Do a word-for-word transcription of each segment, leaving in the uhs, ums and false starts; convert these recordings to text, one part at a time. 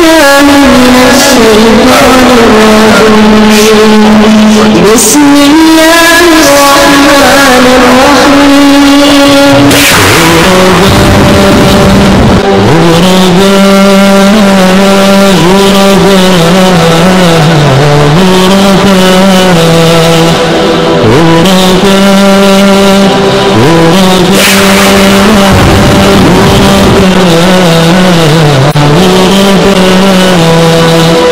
من الشيطان الرجيم. بسم الله الرحمن الرحيم.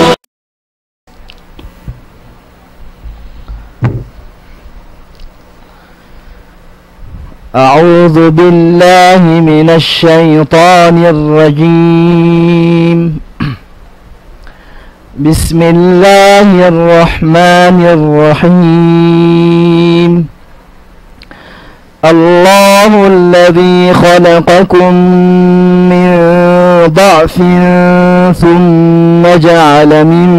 أعوذ بالله من الشيطان الرجيم. بسم الله الرحمن الرحيم. الله الذي خلقكم من ضعف ثم جعل من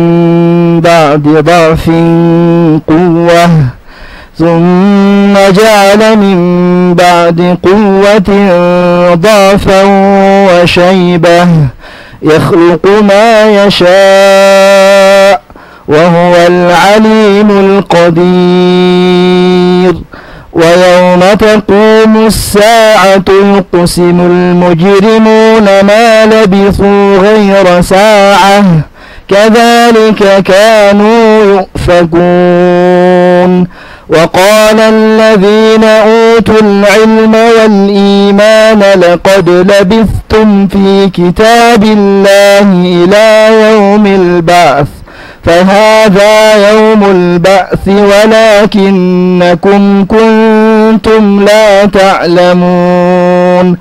بعد ضعف قوة، ثم جعل من بعد قوة ضعفا وشيبة، يخلق ما يشاء، وهو العليم القدير. ويوم تقوم الساعة يقسم المجرمون ما لبثوا غير ساعة، كذلك كانوا يؤفكون. وقال الذين أوتوا العلم والإيمان لقد لبثتم في كتاب الله إلى يوم البعث، فهذا يوم البعث ولكنكم كنتم لا تعلمون.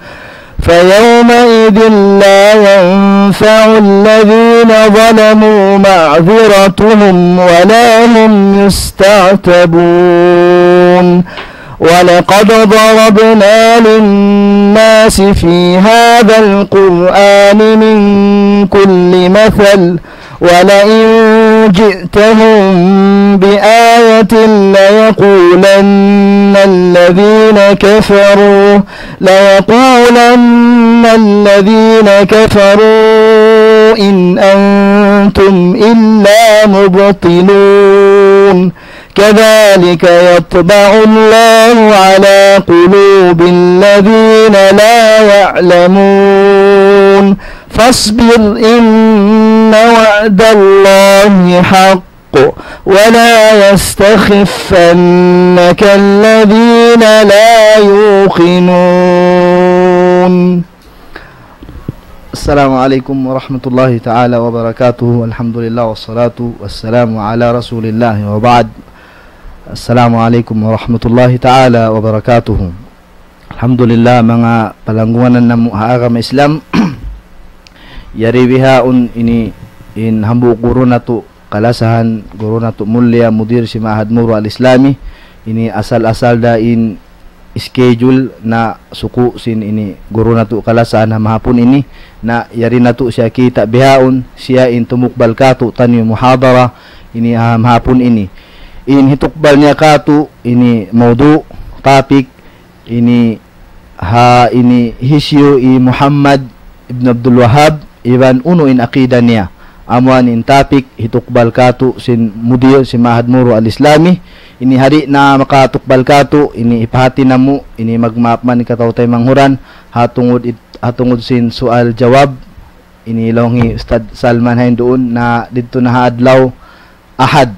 فيومئذ لا ينفع الذين ظلموا معذرتهم ولا هم يستعتبون. ولقد ضربنا للناس في هذا القرآن من كل مثل ولئن جئتهم بآية ليقولن الذين كفروا، ليقولن الذين كفروا إن أنتم إلا مبطلون. كذلك يطبع الله على قلوب الذين لا يعلمون. فاصبر إن وعد الله حق ولا يستخفنك الذين لا يوقنون. السلام عليكم ورحمة الله تعالى وبركاته. الحمد لله والصلاة والسلام على رسول الله وبعد. السلام عليكم ورحمة الله تعالى وبركاته. Alhamdulillah, manga palanggungan namu' ha agama Islam. Yari bihaun ini in hambuuk guru natu' kalasahan, guru natu' mulia, mudir sin Ma'had Muru Al-Islami. Ini asal-asal da in schedule na suku' sin ini guru natu' kalasahan ha mahapun ini, na yari natu' siya kita' bihaun, siya in tumukbal kātu'niyu muhadara ini ha mahapun ini. In hitukbal niya kātu' ini mawdu', topic, ini ha ini hisiyu hi Muhammad ibn Abdul Wahhab iban unu in aqida niya. Amu yan in topic hitukbal kātu' sin mudir sin Ma'had Muru Al-Islami. Ini ha di' na makatukbal kātu', ini hipahāti namu', ini magmaap man in kataw-taymanghuran, ha tungud it-, ha tungud sin sual jawab, ini laung hi Ustadz Salman ha yan duun na didtu na ha adlaw Ahad.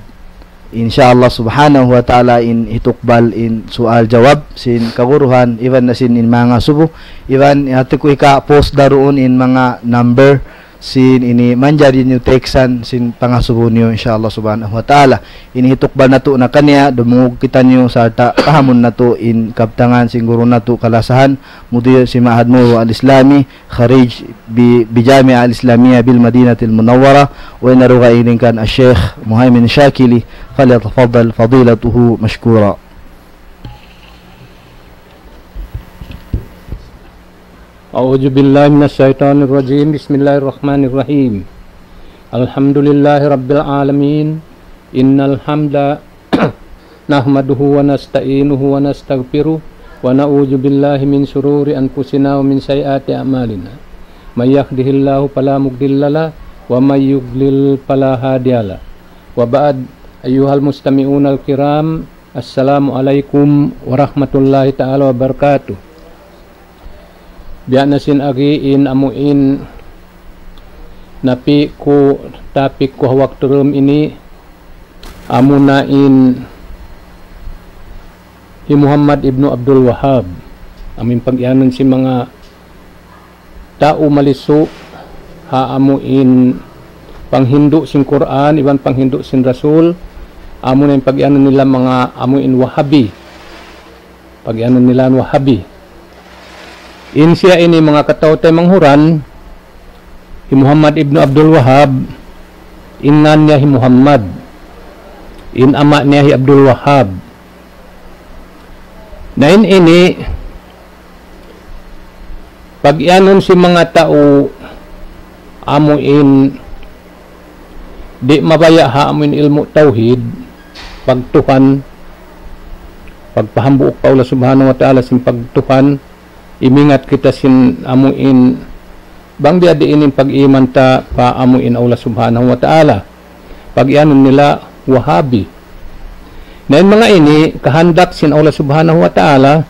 In sha Allah subhanahu wa ta'ala in hitukbal in sual jawab sin kaguruhan, iban na sin in manga subu, iban hati ku hika-post da duun in manga number sin ini manjari niyu text-an sin pangasubu niyu in sha Allah subhanahu wa ta'ala. Ini hitukbal natu' na kaniya, dumungug kitaniyu sarta' pahamun natu' in kabtangan sin guru natu' kalasahan, mudir sin Ma'had Muru Al-Islami, خريج ب-، بجامعة الإسلامية بالمدينة المنورة، وإن رغا إلين كان الشيخ مهيمن شاكلي، فليتفضل فضيلته مشكورا. أعوذ بالله من الشيطان الرجيم. بسم الله الرحمن الرحيم. الحمد لله رب العالمين. إن الحمد نحمده ونستعينه ونستغفره ونعوذ بالله من شرور أنفسنا ومن سيئات أعمالنا. من يهده الله فلا مضل له ومن يضلل فلا هادي له. وبعد، أيها المستمعون الكرام، السلام عليكم ورحمة الله تعالى وبركاته. Biya' na sin agi in amu in napi' ku topic ku ha waktu dum ini, amuna in hi Muhammad ibnu Abdul Wahhab. Amu in pag-iyanun sin manga tau malisu' ha amu in panghindu' sin Qur'an iban panghindu' sin Rasul, amuna in pag-iyanun nila manga amu in Wahabi. Pag-iyanun nila Wahabi. In siya ini, manga kataw-taymanghuran, hi Muhammad ibnu Abdul Wahhab, in ngan niya hi Muhammad, in ama' niya hi Abdul Wahhab. Na in ini, pag-iyanun sin manga tau amu in di' mabaya' ha amu in ilmu' tawhid, pagtuhan, pagpahambuuk pa Allah Subhanahu wa Ta'ala sin pagtuhan, imingat kita sin amu in bang biya' diin in pag-iman ta pa amu in Allah Subhanahu wa Ta'ala. Pag-iyanun nila Wahabi. Na in manga ini, kahandak sin Allah Subhanahu wa Ta'ala,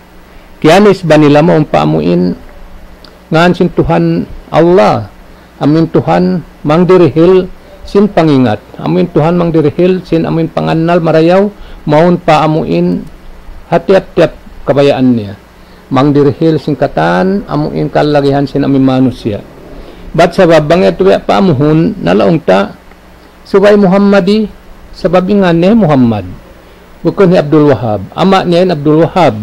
kiyanisba nila mawn pa amu in ngan sin Tuhan Allah, amu in Tuhan mangdirihil sin pangingat, amu in Tuhan mangdirihil sin amu in pangannal marayaw, mawn pa amu in ha tiyap-tiyap kabayaan niya. Mangdirihil sin katan amu in kalagihan sin amu in manusiya'. Bat sabab bang yadtu biya' paamuhun, nalaung ta, subay Muhammadi, sabab in ngan niya Muhammad. Bukun hi Abdul Wahhab. Ama' niya in Abdul Wahhab.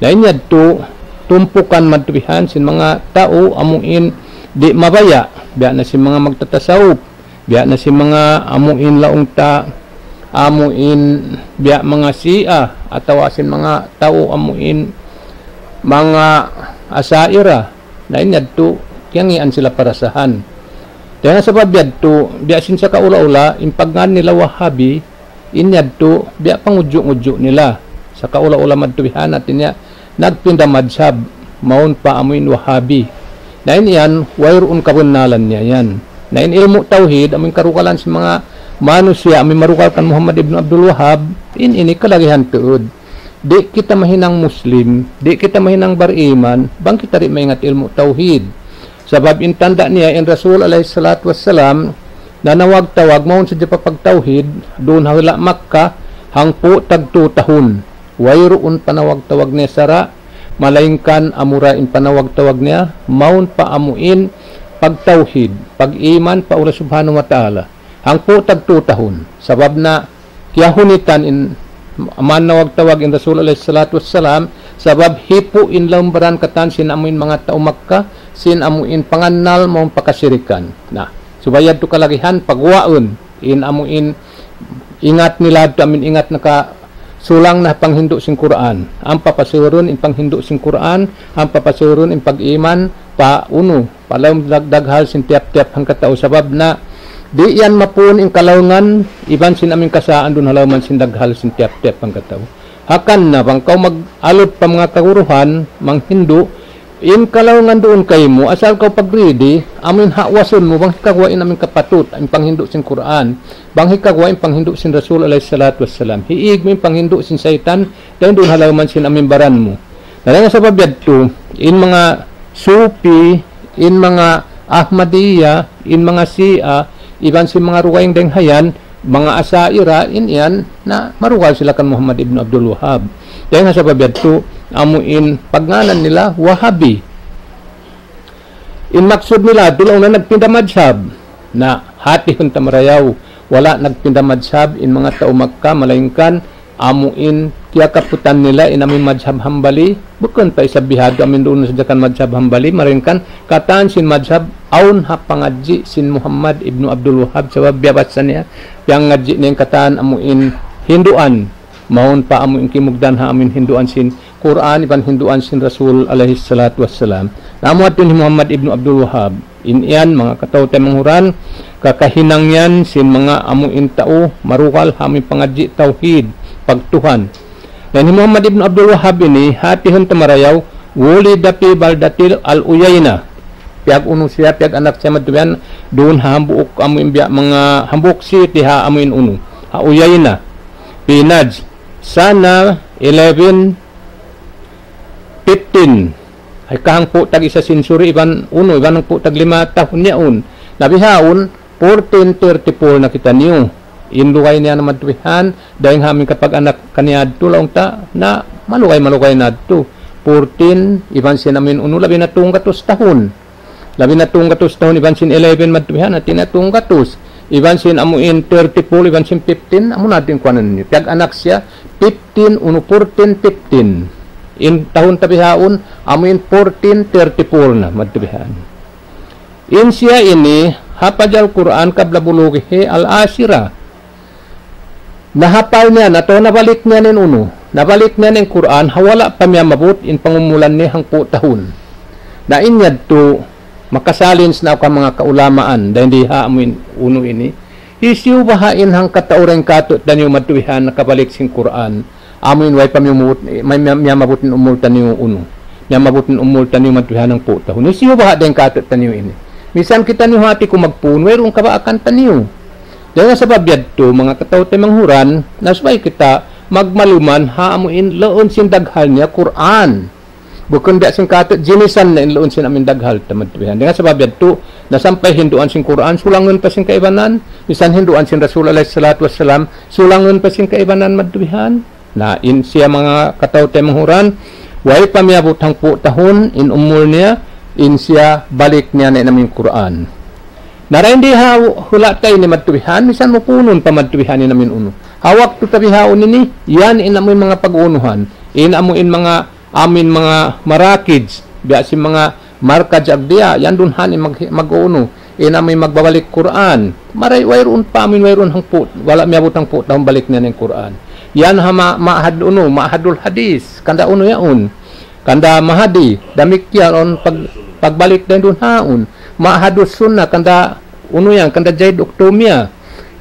Na in yadtu, tumpukan madtu bihan sin manga tau amu in di' mabaya'. Biya' na sin manga magtatasawuf. Biya' na sin manga amu in laung ta, amu in biya' manga Shia, atawa sin manga tau amu in manga Asha'ira. Na in yadtu, kiyangian sila parasahan. Dayn ha sabab yadtu, biya' sin sakaula-ula, in pagngan nila Wahabi, in yadtu, biya' pangudju'-ngudju' nila. Sakaula-ula madtu bihan, hati niya, nagpinda madhab, mawn pa amu in Wahabi. Na in yan, wayruun kabannalan niya yan. Na in ilmu' tawhid, amu in karugalan sin manga manusiya', amu in marugal kan Muhammad ibn Abdul Wahhab, in ini kalagihan tuud. Di' kita mahinang Muslim, di' kita mahinang bariman, bang kita di' maingat ilmu' tawhid. Sabab in tanda' niya in Rasul alayhi salatu wassalam, nanawag-tawag mawn sadja pa pagtawhid, duun ha hula' Makkah, hangpu' tagtu tahun. Wayruun panawag-tawag niya sara', malaingkan amura in panawag-tawag niya, mawn pa amu in pagtawhid, pag-iman pa Allah Subhanahu wa Ta'ala. Hangpu' tagtu tahun. Sabab na kiyahunitan in manawag-tawag in Rasul alayhi salatu wassalam, sabab hipu' in lawm baran katan sin amu in manga tau Makkah, sin amu in pangannal mawn pa kasirikan. Na, subay yadtu kalagihan paguwaun, in amu in ingat nila yadtu amu in ingat nakasulang na panghindu' sin Qur'an. Ampa pasurun in panghindu' sin Qur'an, ampa pasurun in pag-iman pa unu, pa lawm dag-, daghal sin tiyap-tiyap hangkatau sabab na di' yan mapun in kalaungan, iban sin amu in kasaan duun ha lawman sin daghal sin tiyap-tiyap hangkatau. Hangkan na bang kaw mag-alut pa manga kaguruhan, manghindu', in kalaungan duun kaymu, asal kaw pagridi, amu in hawasun mu, bang hikaguwa in amu in kapatut, in panghindu' sin Qur'an, bang hikaguwa in panghindu' sin Rasul alayhi salatu wassalam. Hiig mu in panghindu' sin saytan, dayn duun ha lawman sin amu in baran mu. Na dayn ha sabab yadtu, in manga Sufi, in manga Ahmadiyya, in manga Shia, iban sin manga rugaing dayn ha yan, manga Asha'ira, in yan, na marugal sila kan Muhammad ibn Abdul Wahhab. Dayn ha sabab yadtu, amu in pagngānan nila Wahabi. In maksud nila, duun na nagpinda madhab. Na, hātihun ta marayaw, wala' nagpinda madhab in manga tau Makkah, malaingkan amu in kiyakaputan nila in amu in madhab Hambali, bukun pa isab bihādtu amu in duun na sadja kan madhab Hambali, malaingkan katan sin madhab awn ha pangadji' sin Muhammad ibnu Abdul Wahhab, sabab biyabassa niya, piyangadji' niya in katan amu in hinduan, mawn pa amu in kimugdan ha amu in hinduan sin Qur'an iban hinduan sin Rasul alayhi salatu wassalam. Na amu yadtu in hi Muhammad ibnu Abdul Wahhab. In yan, manga kataw-taymanghuran, kakahinang yan sin manga amu in tau marugal ha amu in pangadji' tawhid, pagtuhan. Na in hi Muhammad ibnu Abdul Wahhab ini, hātihun ta marayaw, ولد في بلدة العيينة. Piyag-unu siya, piyag-anak siya madtu yan, duun ha hambuuk amu in biya' manga hambuuk city ha amu in unu. Ha Uyayna, Pinaj, Sana, eleven, fifteen. Ay kahangpu' tag isa century, iban unu, iban hangpu' tag lima tahun yaun. Na bihaun, fourteen thirty-four na kitaniyu. In lugay niya na madtubihan, dayng ha amin kapag-anak kaniya adtu laung ta, na malugay-malugay na adtu. Fourteen, iban sin amin unu, labi na tunggatus tahun. Labi na tunggatus tahun, iban sin eleven madtubihan, hati na tunggatus. Iban sin amu in thirty-four, iban sin fifteen, amu na din kuanan niya. Piyag-anak siya, fifteen, unu, fourteen, fifteen. In tahun ta bihaun, amu in fourteen thirty-four na madtubihan. In siya ini, hafazal Qur'an qabla bulughihi al-ashira. Nahapal niya na to, nabalik niya in unu. Nabalik niya in Qur'an, ha wala' pa miyamabut in pangumulan niya hangpu' tahun. Na in yadtu, makasalins na ka manga kaulamaan, dayng di ha amu in unu ini. Hisiyu baha' in hangkatau dayng kātu'niyu madtubihan nakabalik sin Qur'an. Amu in way pa miyamabut, may, may, miyamabut in umul taniyu unu. Miyamabut in umul taniyu madtubihan hangpu' tahun. Hisiyu baha' dayng kātu'niyu ini. Misan kitaniyu hati ku magpun, wayruun kabaakan taniyu. Dayng ha sabab yadtu, manga kataw-taymanghuran, na subay kita magmaluman ha amu in laun sin daghal niya Qur'an. Bukun biya' sin kātu' jinisan na in laun sin amu in daghal ta madtubihan. Dayng ha sabab yadtu, na sampay hinduan sin Qur'an, sulangun pa sin kaibanan, misan hinduan sin Rasul alayhi salatu wassalam, sulangun pa sin kaibanan madtubihan. Na in siya manga kataw-taymanghuran, way pa miyabut hangpu' tahun in umul niya, in siya balik niya na in amu in Qur'an. Na dayng di ha hula' ta ini madtubihan, misan mupunun pa madtubihan in amu in unu. Ha waktu ta bihaun ini, yan in amu in manga pag-uunuhan, in amu in manga amu in manga marakij, biya' sin manga markaj agdiya, yan duun ha ini mag-, mag-unu, in amu in magbabalik Qur'an. Maray wayruun pa amu in wayruun hangpu', wala' miyabut hangpu' tahun balik niya in Qur'an. Yan ha ma-, ma'had unu, ma'hadul hadis, kanda unu yaun. Kanda mahadi, damikkiyan pag-, pagbalik dayng duun haun. Ma'hadus sunnah, kanda unu yan, kanda Zaid Uktumiya.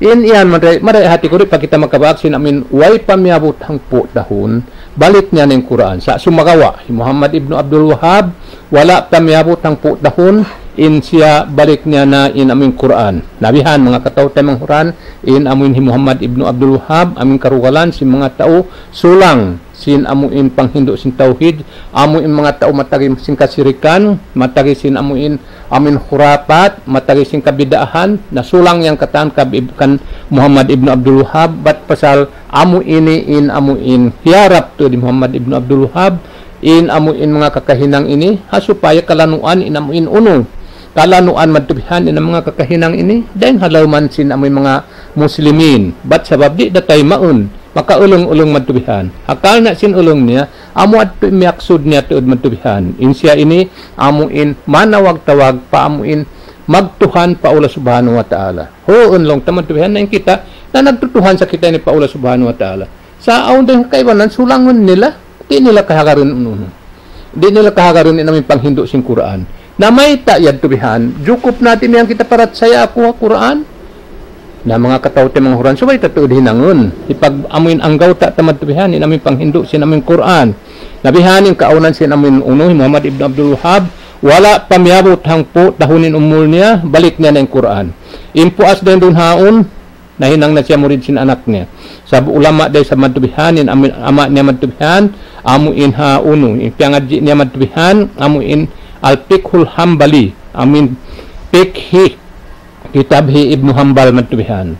In yan, maray, maray hati ku di' pa kita makabak sin amu in way pa miyabut hangpu' tahun, balik niya na in Qur'an. Sa' sumagawa', hi Muhammad ibnu Abdul Wahhab, wala' pa miyabut hangpu' tahun, in siya balik niya na in amu in Qur'an. Na bihan, manga kataw-taymanghuran, in amu in hi Muhammad ibnu Abdul Wahhab, amu in karugalan sin manga tau sulang sin amu in panghindu' sin tawhid, amu in manga tau matagi sin kasirikan, matagi sin amu in, amu in khurafat, matagi sin kabid'ahan, na sulang yan katan kab-, kan Muhammad ibnu Abdul Wahhab, bat pasal amu ini in amu in hiyarap tuud hi Muhammad ibnu Abdul Wahhab, in amu in manga kakahinang ini, ha supaya kalanuan in amu in unu. Kalanuan madtubihan in manga kakahinang ini, dayng ha lawman sin amu in manga muslimin. Bat sabab di' da taymaun. Makaulung-ulung madtubihan. Hakal na sin ulung niya, amu adtu in miyaksud niya tuud madtubihan. In siya ini, amu in manawag-tawag pa amu in magtuhan pa Allah Subhanahu wa Ta'ala. Huun laung ta madtubihan na in kita, na nagtutuhan sa kita ini pa Allah Subhanahu wa Ta'ala. Sa' awn dayng kaibanan, sulangun nila, di' nila kahagarun unu-unu. Di' nila kahagarun in amu in panghindu' sin Qur'an. Na mayta' yadtu bihan, jukup na di' miyan kita parachaya aku ha Qur'an. Na manga kataw-taymanghuran, subay ta tuud hinangun. Hipag-amu in anggawta' ta madtu bihan, in amu in panghindu' sin amu in Qur'an. Na bihan in kaawnan sin amu in unu, hi Muhammad ibn Abdul Wahhab, wala' pa miyabut hangpu' tahun in umul niya, balik niya na in Qur'an. In puas dayn duun haun, nahinang na siya murid sin anak niya. Sabab ulama da isab madtu bihan, in amu in ama' niya madtu bihan, amu in ha unu, in piyangadji' niya madtu bihan, amu in Al-Fiqhul Hanbali, amu in fikhi kitab hi Ibnu Hanbal madtu bihan.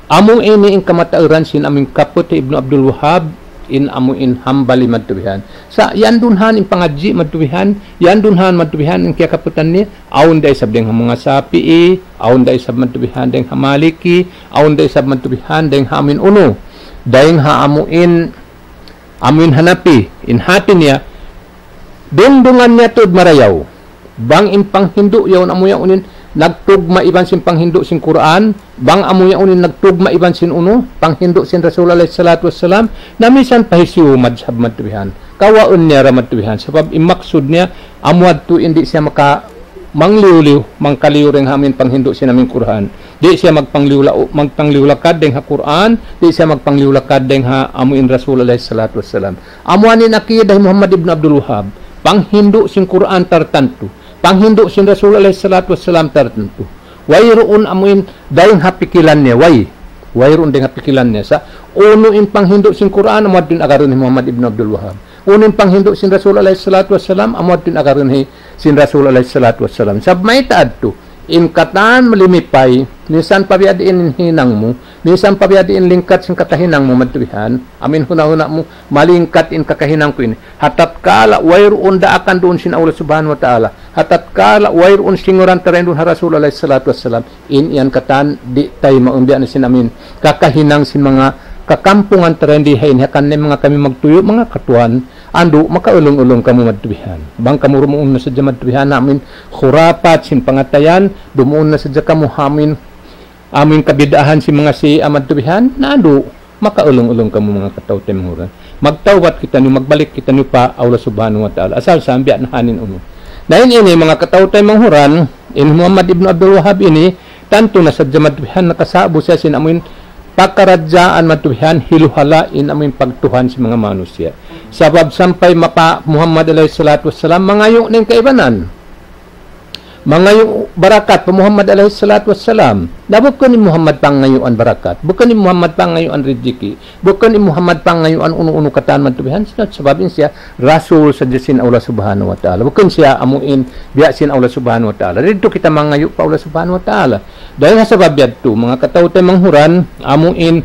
Amu ini in kamatauran sin amu in kaput hi Ibnu Abdul Wahhab, in amu in Hanbali madtu bihan. Sa' yan duun han in pangadji' madtu bihan, yan duun han madtu bihan in kiyakaputan niya, awn da isab dayng ha manga Shafi'i, awn da isab madtu bihan dayng ha Maliki, awn da isab madtu bihan dayng ha amu in unu, dayng ha amu in, amu in Hanafi, in hati niya, dungdungan niya tuud marayaw. Bang in panghindu' yaun amu yaun in nagtugma' iban sin panghindu' sin Qur'an, bang amu yaun in nagtugma' iban sin unu, panghindu' sin Rasul alayhi salatu wassalam, na misan pa hisiyu madhhab madtu bihan. Kawaun niya ra madtu bihan. Sabab in maksud niya, amu yadtu in di' siya maka mangliyu-liyu, mangkaliyu dayng ha amu in panghindu' sin amu in Qur'an. Di' siya magpangliyu la-, magpangliyu lakad dayng ha Qur'an, di' siya magpangliyu lakad dayng ha amu in Rasul alayhi salatu wassalam. Amu ini in aqidah hi Muhammad ibn Abdul Wahhab. Panghindu' sin Qur'an tartantu. Panghindu' sin Rasul alayhi salatu wassalam tartantu. Wayruun amuin dayn ha pikilan niya, way. Wayruun dayn ha pikilan niya. Sa' unu in panghindu' sin Qur'an, amu adtu in agarun hi Muhammad ibn Abdul Wahhab. Unu in panghindu' sin Rasul alayhi salatu wassalam, amu adtu in agarun hi sin Rasul alayhi salatu wassalam. Sabab mayta' adtu, in katan malimipay, minsan pa biya' diin in hinang mu, minsan pa biya' diin lingkat sin kakahinang mu madtu bihan, amuin huna-huna mu, malingkat in kakahinang ku ini. Ha tatkala wayruun daakan duun sin Allah Subhanahu wa Ta'ala. Ha tatkala wayruun singuran ta dayn duun ha Rasul alayhi salatu wassalam. In yan katan di' taymaun biya' na sin amuin kakahinang sin manga kakampungan ta dayn di ha ini, hangkan na manga kami magtuyu', manga katuan, andu', makaulung-ulung kamu madtu bihan. Bang kamu dumuun na sadja madtu bihan, amuin khurapat sin pangatayan, dumuun na sadja kamu amuin, amuin kabid'ahan sin manga Shia madtu bihan, na andu', makaulung-ulung kamu manga kataw-taymanghuran. Magtawbat kitaniyu, magbalik kitaniyu pa Allah Subhanahu wa Ta'ala. Asal sa biya' na hain unu. Na in ini manga kataw-taymanghuran, in Muhammad ibn Abdul Wahhab ini, tantu na sadja madtu bihan nakasa'bu siya sin amuin pakaradjaan madtu bihan hiluhala' in amuin pagtuhan sin manga manusiya'. Sabab sampay mapa Muhammad alayhi salatu wassalam mangayu' na in kaibanan. Mangayu' barakat pa Muhammad alayhi salatu wassalam. Na bukun in Muhammad pangayuan barakat. Bukun in Muhammad pangayuan rijiki. Bukun in Muhammad pangayuan unu-unu katan madtu bihan. Sabab in siya Rasul sadja sin Allah Subhanahu wa Ta'ala. Bukun siya amuin biya' sin Allah Subhanahu wa Ta'ala. Didtu kita mangayu' pa Allah Subhanahu wa Ta'ala. Dayn ha sabab yadtu, manga kataw-taymanghuran, amuin,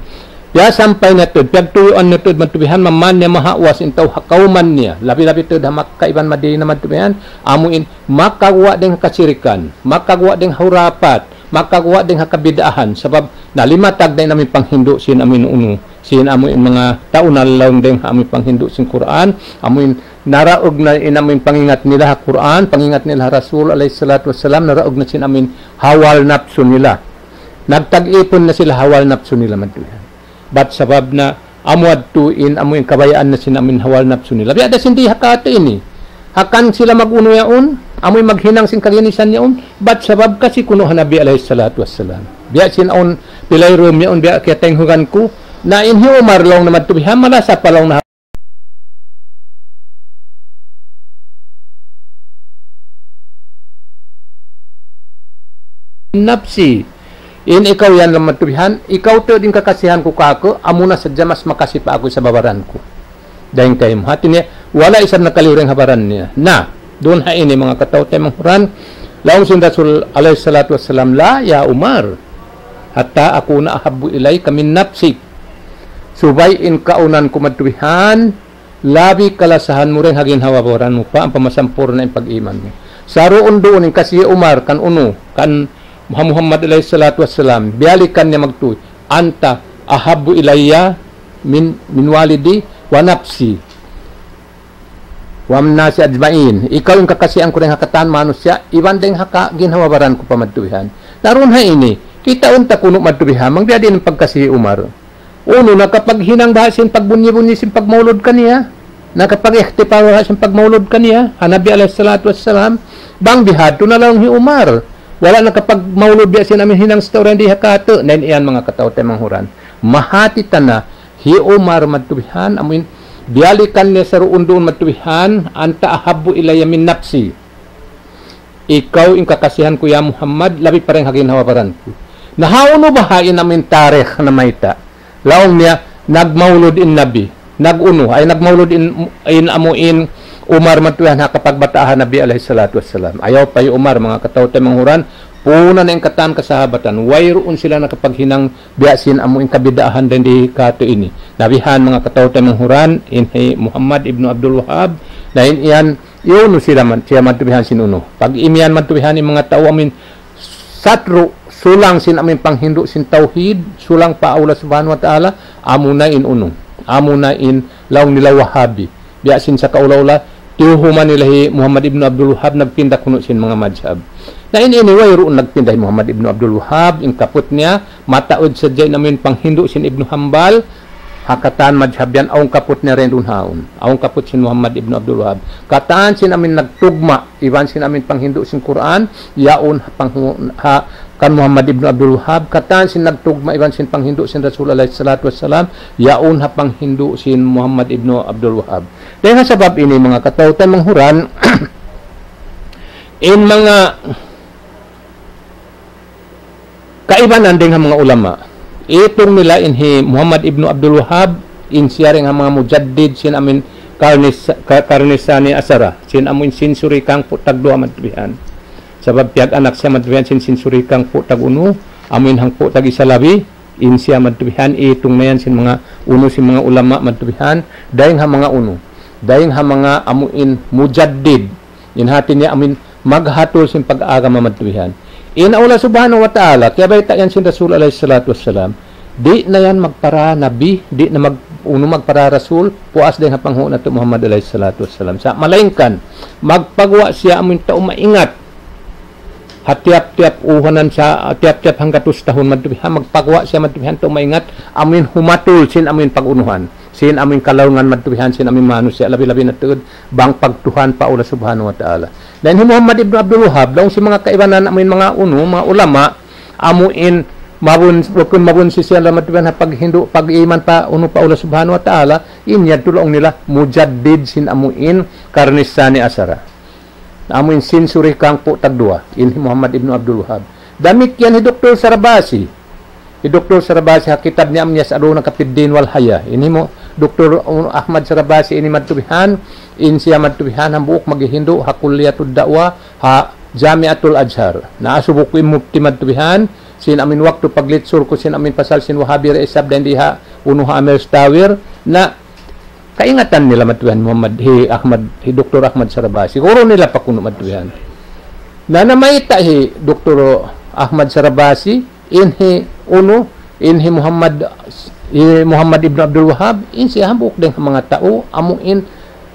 biya' sampay na tuud, piyagtuyuan na tuud madtu bihan, maman niya mahawas in tau ha kawman niya. Labi-labi tuud ha Makkah iban Madinah madtu bihan, amuin, makaguwa' dayn ha kasirikan, makaguwa' dayn ha hurapat, makaguwa' dayn ha kabid'ahan, sabab nalimatag na in amuin panghindu' sin amuin unu, sin amuin manga tau nalaung dayn ha amuin panghindu' sin Qur'an, amuin naraug na in amuin pangingat nila ha Qur'an, pangingat nila ha Rasul alayhi salatu wassalam, naraug na sin amuin hawa napsu nila. Nagtag-ipun na sila hawa napsu nila madtu bihan. Bat sabab na amu adtu in amuin kabayaan na sin amuin hawa napsu nila. Biya' da sin di ha katu' ini. Hangkan sila mag-unu yaun, amuin maghinang sin kaginisan yaun, bat sabab kasi kunu' ha Nabi alayhi salatu wassalam. Biya' sin awn pilayrum yaun, biya' kiyataynghugan ku, na in hi Umar laung na madtu bihan, malasa pa laung na nafsi. In ikaw yan laung madtu bihan, ikaw tuud in kakasihan ku kāku', amuna sadja mas makasi pa aku isab ha baran ku. Dayn kaymu. Hati niya, wala' isab nakaliyu dayn ha baran niya. Na, duun ha ini manga kataw-taymanghuran, laung sin Rasul alayhi salatu wassalam, "La, ya Umar, hatta akuna ahabbu ilayka min nafsik." Subay in kaunan ku madtu bihan, labi kalasahan mu dayn ha ginhawa-baran mu pa, ampa masampurna' in pag-iman mu. Saruun-duun in kasi hi Umar, kan unu, kan ha Muhammad alayhi salatu wassalam, biyalikan niya magtuy, "Anta ahabbu ilayya min, min walidi wa nafsi, wa min nasi ajmain." Ikaw in kakasihan ku dayn ha katan manusiya', iban dayn ha ka-, ginhawa-baran ku pa madtu bihan. Na duun ha ini, kitaun ta kunu' madtu bihan, bang biya' diin in pagkasi hi Umar. Unu, nakapaghinang baha' sin pagbunyi-bunyi sin pagmaulud kaniya? Nakapag-ikhtifal baha' sin pagmaulud kaniya? Ha Nabi alayhi salatu wassalam, bang bihadtu na laung hi Umar. Wala' nakapagmaulud biya' sin amuin hinang sin tau dayn di ha katu'. Na in yan manga kataw-taymanghuran. Mahati ta na hi Umar madtu bihan, amuin biyalikan niya saruun-duun madtu bihan, "Anta ahabbu ilayya min nafsi." Ikaw in kakasihan ku ya Muhammad, labi pa dayn ha ginhawa-baran ku. Na hawnu baha' in amuin tarikh namayta'? Laung niya, nagmaulud in Nabi. Nag-unu, ay nagmaulud in, in amuin Umar madtu bihan ha kapagbataa ha Nabi alayhi salatu wassalam. Ayaw pa hi Umar, manga kataw-taymanghuran, puna na in katan kasahabatan. Wayruun sila nakapaghinang biya' sin amuin kabidaahan dayn di katu' ini. Na bihan manga kataw-taymanghuran, in hi Muhammad ibnu Abdul Wahhab, na in yan, unu sila man, siya madtu bihan sin unu. Pag imiyan madtu bihan in manga tau amuin satru', sulang sin amuin panghindu' sin tawhid, sulang pa Allah Subhanahu wa Ta'ala, amuna in unu. Amuna in laung nila Wahabi. Biya' sin sakaula-ula, tiyuhuman nila hi Muhammad ibnu Abdul Wahhab, nagpinda kunu' sin manga madhhab. Na in ini, wayruun nagpinda hi Muhammad ibnu Abdul Wahhab, in kaput niya, mataud sadja in amuin panghindu' sin Ibnu Hanbal, ha katan madhhab yan, awn kaput niya dayn duun ha yaun. Awn kaput sin Muhammad ibnu Abdul Wahhab. Katan sin amuin nagtugma', iban sin amuin panghindu' sin Qur'an, yaun ha panghu-, ha kan Muhammad ibnu Abdul Wahhab, katan sin nagtugma' iban sin panghindu' sin Rasul alayhi salatu wassalam, yaun ha panghindu' sin Muhammad ibnu Abdul Wahhab. Dayn ha sabab ini, manga kataw-taymanghuran, in manga kaibanan dayn ha manga ulama. Itung nila in hi Muhammad ibnu Abdul Wahhab, in siya dayn ha manga mujaddid sin amuin karnis-, ka-, karnisani asara, sin amuin century kahangpu' tagduwa madtu bihan. Sabab piyag-anak siya madtu bihan sin century kahangpu' tag-unu, amuin hangpu' tag-isa labi, in siya madtu bihan, itung na yan sin manga unu sin manga ulama madtu bihan, dayn ha manga unu, dayn ha manga amuin mujaddid, in hati niya amuin maghatul sin pag-agama madtu bihan. In Allah Subhanahu wa Ta'ala, kiyabayta' yan sin Rasul alayhi salatu wassalam, di' na yan magpara nabi, di' na mag-, unu magpara rasul, puas dayn ha panghu' natu' Muhammad alayhi salatu wassalam. Sa' malaingkan, magpaguwa' siya amuin tau maingat. Ha tiyap-tiyap uhanan sa, tiyap-tiyap hanggatus tahun madtu bihan, magpaguwa' siya madtu bihan tau maingat, amuin humatul sin amuin pag-unuhan, sin amuin kalaungan madtu bihan, sin amuin manusiya', labi-labi na tuud, bang pagtuhan pa Allah Subhanahu wa Ta'ala. Dayn hi Muhammad ibnu Abdul Wahhab, laung sin manga kaibanan amuin manga unu, manga ulama, amuin mabun-, bukun mabunsi siya laung madtu bihan ha paghindu', pag-iman pa unu pa Allah Subhanahu wa Ta'ala, in yadtu laung nila mujaddid sin amuin karnisani asara. Amuin century kahangpu' tagduwa, in hi Muhammad ibnu Abdul Wahhab. Damikkiyan hi Doktor Sarabasi. Hi Doktor Sarabasi ha kitab niya amuin يسألونك في الدين والحياة. In hi mu-, Doktor Ahmad Sarabasi ini madtu bihan, in siya madtu bihan hambuuk maghihindu' ha Kulliyatud Da'wah, ha Jamiatul Azhar. Naasubu ku in mufti madtu bihan, sin amuin waktu pag-lecture ku sin amuin pasal sin Wahabi ra isab dayn di ha unu ha Amir Stawir, na kaingatan nila madtu bihan Muhammad, hi Ahmad, hi Doktor Ahmad Sarabasi. Siguru nila pa kunu' madtu bihan. Na namayta' hi Doktor Ahmad Sarabasi, in hi unu, in hi Muhammad, hi Muhammad ibnu Abdul Wahhab, in siya hambuuk dayn ha manga tau, amuin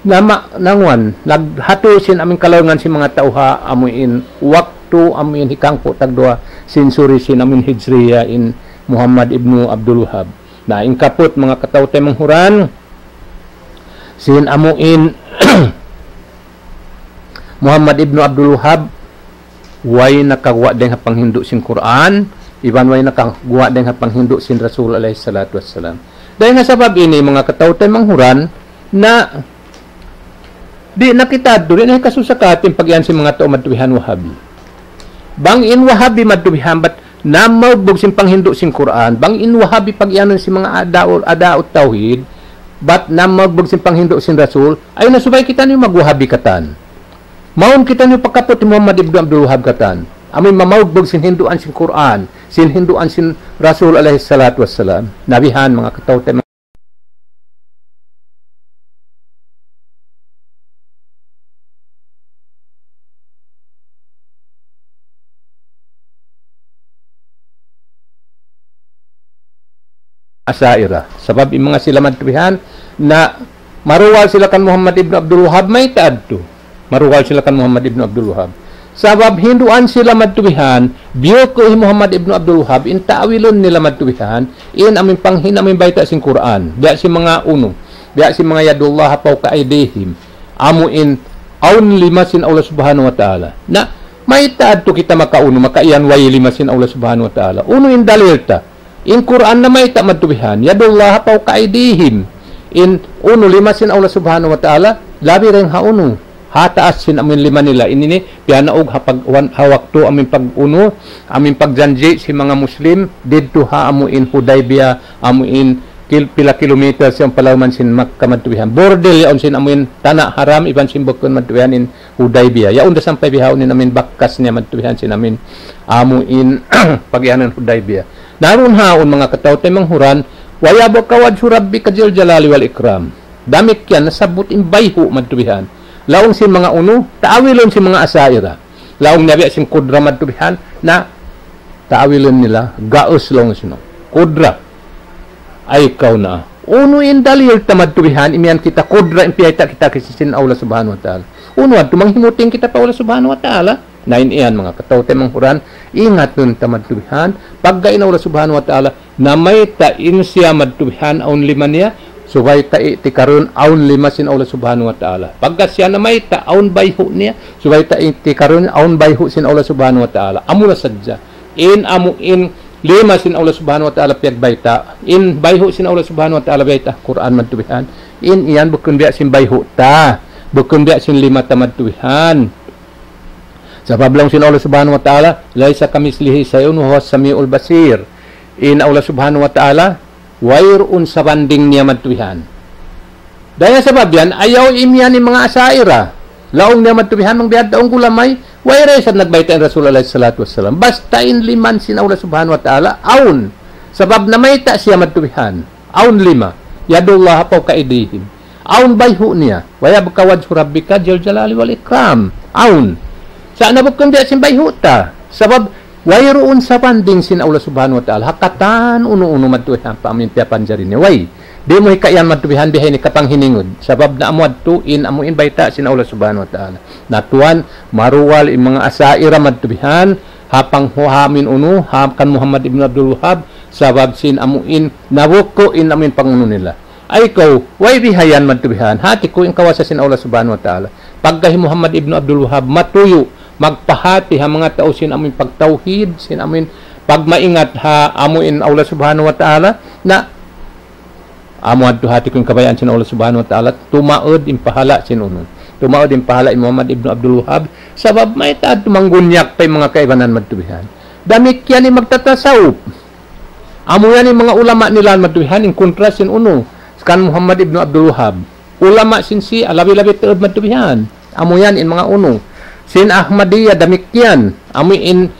nama nanguan, naghatul sin amuin kalaungan sin manga tau ha, amuin waktu, amuin hikahangpu' tagduwa century sin amuin Hijriya in Muhammad ibnu Abdul Wahhab. Na, in kaput manga kataw-taymanghuran, sin amuin Muhammad ibnu Abdul Wahhab, way nakaguwa' dayn ha panghindu' sin Qur'an, iban way nakaguwa' dayn ha panghindu' sin Rasul alayhi salatu wassalam. Dayn ha sabab ini, manga kataw-taymanghuran, na di' na kita adtu, di' na hikasusa katu' in pag-iyan sin manga tau madtu bihan Wahabi. Bang in Wahabi madtu bihan, bat namaugbug sin panghindu' sin Qur'an, bang in Wahabi pag-iyanun sin manga ada'u, ada'u tawhid, bat namaugbug sin panghindu' sin Rasul, ay na subay kitaniyu mag-Wahabi katan. Mawn kitaniyu pa kaput hi Muhammad ibnu Abdul Wahhab katan. Amuin mamaugbug sin hinduan sin Qur'an, sin hinduan sin Rasul alayhi salatu wassalam. Na bihan, manga kataw-taymanghuran, Asha'irah. Sabab in manga sila madtu bihan, na maruwal sila kan Muhammad ibnu Abdul Wahhab, mayta' adtu. Maruwal sila kan Muhammad ibnu Abdul Wahhab. Sabab hinduan sila madtu bihan, biyuku hi Muhammad ibnu Abdul Wahhab, in ta'wilun nila madtu bihan, in amuin panghin-, amuin bayta' sin Qur'an, biya' sin manga unu, biya' sin manga يد الله فوق أيديهم, amuin awn lima sin Allah Subhanahu wa Ta'ala. Na, mayta' adtu kita makaunu, makaiyan way lima sin Allah Subhanahu wa Ta'ala. Unu in dalil ta? In Qur'an namayta' madtu bihan, يد الله فوق أيديهم. In unu, lima sin Allah Subhanahu wa Ta'ala, labi dayn ha unu, ha taas sin amuin lima nila. Ini ini, piyanaug ha pag-, wan-, ha waktu amuin pag-unu, amuin pagjanji' sin manga Muslim, didtu ha amuin Hudaybiyah, amuin kil-, pila kilometer siya palauman sin Makkah madtu bihan. Bordil yaun sin amuin tana' haram, iban sin bukun madtu bihan in Hudaybiyah. Yaun da sampay bihaun in amuin bakas niya madtu bihan sin amuin, amuin pag-iyanun Hudaybiyah. Na duun ha yaun, manga kataw-taymanghuran, ويبقى وجه ربك ذو الجلال والإكرام. Damikkiyan nasabbut in bayhu' madtu bihan. Laung sin manga unu, ta'wilun sin manga Asha'irah. Laung niya biya' sin qudra madtu bihan, na ta'wilun nila, gaus laung sila. Qudra. Ay kaw na. Unu in dalil ta madtu bihan, imiyan kita qudra in piyayta' kita kaysa sin Allah Subhanahu wa Ta'ala. Unu adtu manghimuting kita pa Allah Subhanahu wa Ta'ala. Na in iyan, manga kataw-taymanghuran, ingatun ta madtu bihan, pagga in Allah Subhanahu wa Ta'ala, namayta' in siya madtu bihan awn lima niya, subay ta i'tikarun awn lima sin Allah Subhanahu wa Ta'ala. Pagga siya namayta' awn bayhu' niya, subay ta i'tikarun awn bayhu' sin Allah Subhanahu wa Ta'ala. Amuna sadja. In amuin lima sin Allah Subhanahu wa Ta'ala piyagbayta', in bayhu' sin Allah Subhanahu wa Ta'ala bayta' Qur'an madtu bihan, in iyan bukun biya' sin bayhu' ta, bukun biya' sin lima ta madtu bihan. Sabab laung sin Allah Subhanahu wa Ta'ala, ليس كمثله شيء وهو السميع البصير. In Allah Subhanahu wa Ta'ala, wayruun sabanding niya madtu bihan. Dayn ha sabab yan, ayaw imiyan in manga Asha'ira. Laung niya madtu bihan, bang biya' daun gulamay, way da isab nagbayta' in Rasul alayhi salatu wassalam. Basta in liman sin Allah Subhanahu wa Ta'ala, awn. Sabab namayta' siya madtu bihan. Awn lima. يد الله فوق أيديهم. Awn bayhu' niya. ويبقى وجه ربك ذو الجلال والإكرام. Awn. Sa' na bukun biya' sin bayhu' ta. Sabab, wayruun sabanding sin Allah Subhanahu wa Ta'ala. Ha katan unu-unu madtu bihan pa amin piyapanjari niya. Way. Di' mu hikayan madtu bihan biya' ini kapanghiningud. Sabab na amu adtu in amu in bayta' sin Allah Subhanahu wa Ta'ala. Na tuwan, maruwal in manga Asha'ira madtu bihan, ha panghuhamin unu, ha kan Muhammad ibn Abdul Wahhab, sabab sin amu in, nabuku in amu in pangunu nila. Ay kaw, way bihayan madtu bihan, hati ku in kawasa sin Allah Subhanahu wa Ta'ala. Pagka hi Muhammad ibn Abdul Wahhab, matuyu', magpahati ha manga tau sin amu in pagtawhid, sin amu in pagmaingat ha amu in Allah Subhanahu wa Ta'ala, na amu adtu hati ku in kabayaan sin Allah Subhanahu wa Ta'ala, tumaud in pahala sin unu. Tumaud in pahala in Muhammad ibn Abdul Wahhab, sabab mayta' adtu manggunyak pa in manga kaibanan madtu bihan. Damikkiyan in magtatasawuf. Amu yan in manga ulama nila madtu bihan, in kontra sin unu. Kan Muhammad ibn Abdul Wahhab. Ulama sin Shia, labi-labi tuud madtu bihan. Amu yan in manga unu. Sin Ahmadiyya damikkiyan. Amu in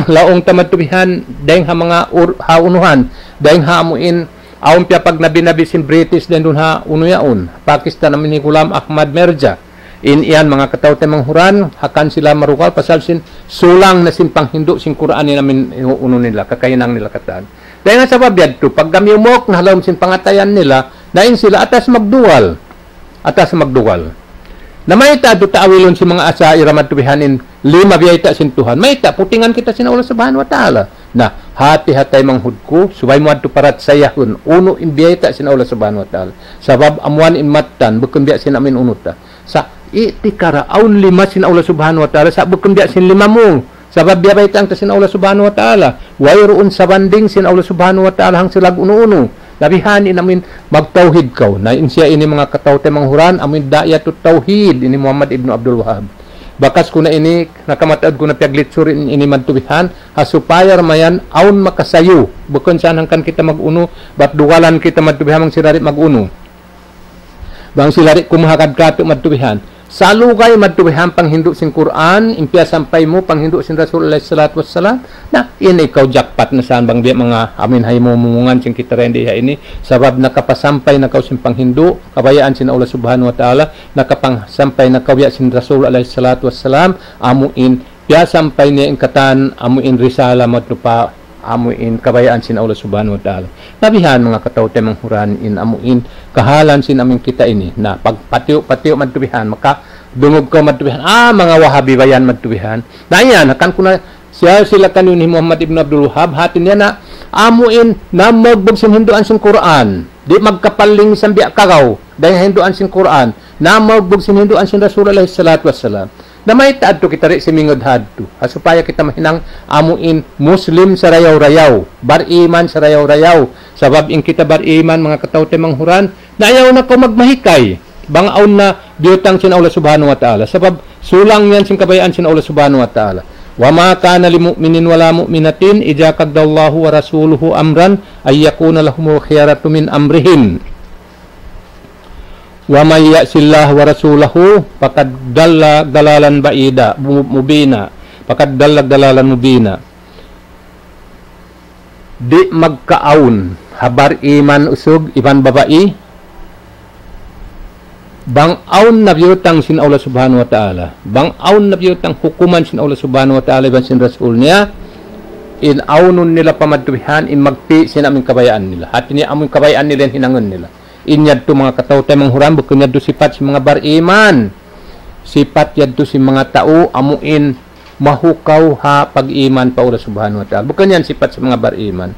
laung ta madtu bihan, dayng ha manga ur-, ha unuhan, dayng ha amu in, awn piyapagnabi-nabi sin British dayng duun ha unu yaun, Pakistan amu in hi Ghulam Ahmad Mirza. In yan manga kataw-taymanghuran, ha kan sila marugal, pasal sin sulang na sin panghindu' sin Qur'an in amu in unu nila, kakahinang nila katan. Dayng ha sabab yadtu, pagka miyumuk na ha lawm sin pangatayan nila, na in sila atas magduwal. Atas magduwal. Na mayta' adtu ta'wilun sin manga Asha'ira madtu bihan in lima biyayta' sin Tuhan. Mayta', putingan kita sin Allah Subhanahu wa Ta'ala. Na, hati-hati manghud ku, subay mu adtu parachayahun, unu in biyayta' sin Allah Subhanahu wa Ta'ala. Sabab amuan in mattan, bukun biya' sin amu in unu ta. Sa' i'tikara, awn lima sin Allah Subhanahu wa Ta'ala, sa' bukun biya' sin lima mu. Sabab biya' bayta' ta sin Allah Subhanahu wa Ta'ala. Wayruun sabanding sin Allah Subhanahu wa Ta'ala hang sila unu-unu. Na bihan in amu in magtawhid kaw. Na in siya ini manga kataw-taymanghuran, amu in da'iyatut tawhid, ini Muhammad ibn Abdul Wahhab. Bakas ku na ini, nakamataud ku na piyaglitsur in ini madtu bihan, ha supaya da mayan awn makasayu. Bukun sa' hangkan kita mag-unu, bat duwalan kita madtu bihan bang sila di' mag-unu. Bang sila di' kumahagad katu' madtu bihan. Salugay madtu bihan panghindu' sin Qur'an, in piyasampay mu panghindu' sin Rasul alayhi salatu wassalam. Na, in ikaw jackpot na sa' bang biya' manga amu in haymumungan sin kita dayn di ha ini. Sabab nakapasampay na kaw sin panghindu', kabayaan sin Allah Subhanahu wa Ta'ala, nakapasampay na kaw biya' sin Rasul alayhi salatu wassalam, amu in piyasampay niya in katan amu in risala madtu pa amu in kabayaan sin Allah Subhanahu wa Ta'ala. Na bihan manga kataw-taymanghuran in amu in kahalan sin amu in kita ini. Na pagpatiyu'-patiyu' madtu bihan, makadungug kaw madtu bihan, ah, manga Wahabi ba yan madtu bihan. Na yan, hangkan ku na siya sila kaniyu hi Muhammad ibn Abdul Wahhab, hati niya na amu in namagbug sin hinduan sin Qur'an. Di' magkapaling sambiya' kagaw, dayn hinduan sin Qur'an. Namagbug sin hinduan sin Rasul alayhi salatu wassalam. Na mayta' adtu kita di' simingud hadtu. Ha supaya kita mahinang amu in Muslim sarayaw-rayaw, bariman sarayaw-rayaw. Sabab in kita bariman, manga kataw-taymanghuran, na ayaw na kaw magmahikay. Bang awn na biyutang sin Allah Subhanahu wa Ta'ala. Sabab sulang yan sin kabayaan sin Allah Subhanahu wa Ta'ala. وما كان لمؤمن ولا مؤمنة إذا قضى الله ورسوله أمرا أن يكون لهم الخيرة من أمرهم. ومن يعص الله ورسوله فقد ضل ضلالا بعيدا، مبينا. فقد ضل ضلالا مبينا. Di' magkaawn ha bariman usug iban babai, bang awn na biyutang sin Allah Subhanahu wa Ta'ala, bang awn na biyutang hukuman sin Allah Subhanahu wa Ta'ala iban sin Rasul niya, in awnun nila pa madtu bihan, in magpi' sin amu in kabayaan nila. Hati niya amu in kabayaan nila in hinangun nila. In yadtu manga kataw-taymanghuran, bukun yadtu sipat sin manga bariman. Sipat yadtu sin manga tau amu in mahukaw ha pag-iman pa Allah Subhanahu wa Ta'ala. Bukun yan sipat sin manga bariman.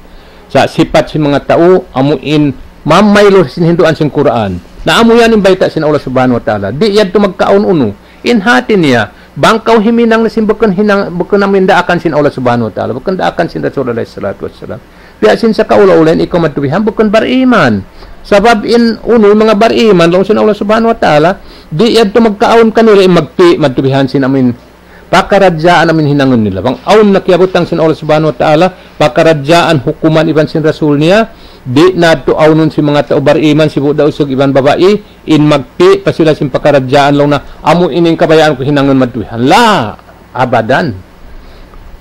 Sa' sipat sin manga tau amu in mamaylu sin hinduan sin Qur'an. Na amu yan in bayta' sin Allah Subhanahu wa Ta'ala. Di' yadtu magkaawn unu. In hati niya, bang kaw himinang na sin bukun hinang, bukun amu in daakan sin Allah Subhanahu wa Ta'ala, bukun daakan sin Rasul alayhi salatu wassalam. Biya' sin sa kaula-ula in ikaw madtu bihan, bukun bariman. Sabab in unu, in manga bariman, laung sin Allah Subhanahu wa Ta'ala, di' yadtu magkaawn kanila in magpi' madtu bihan sin amu in Pakaradjaan amin hinangun nila. Bang awn na kiyabutang sin Allah Subhanahu wa Ta'ala, pakaradjaan hukuman iban sin Rasul niya, di' na tuud awnun sin manga tau bariman, sibu' da usug iban babai, in magpi' pa sila sin pakaradjaan laung na, amu ini in kabayaan ku hinangun madtu bihan. La, abadan.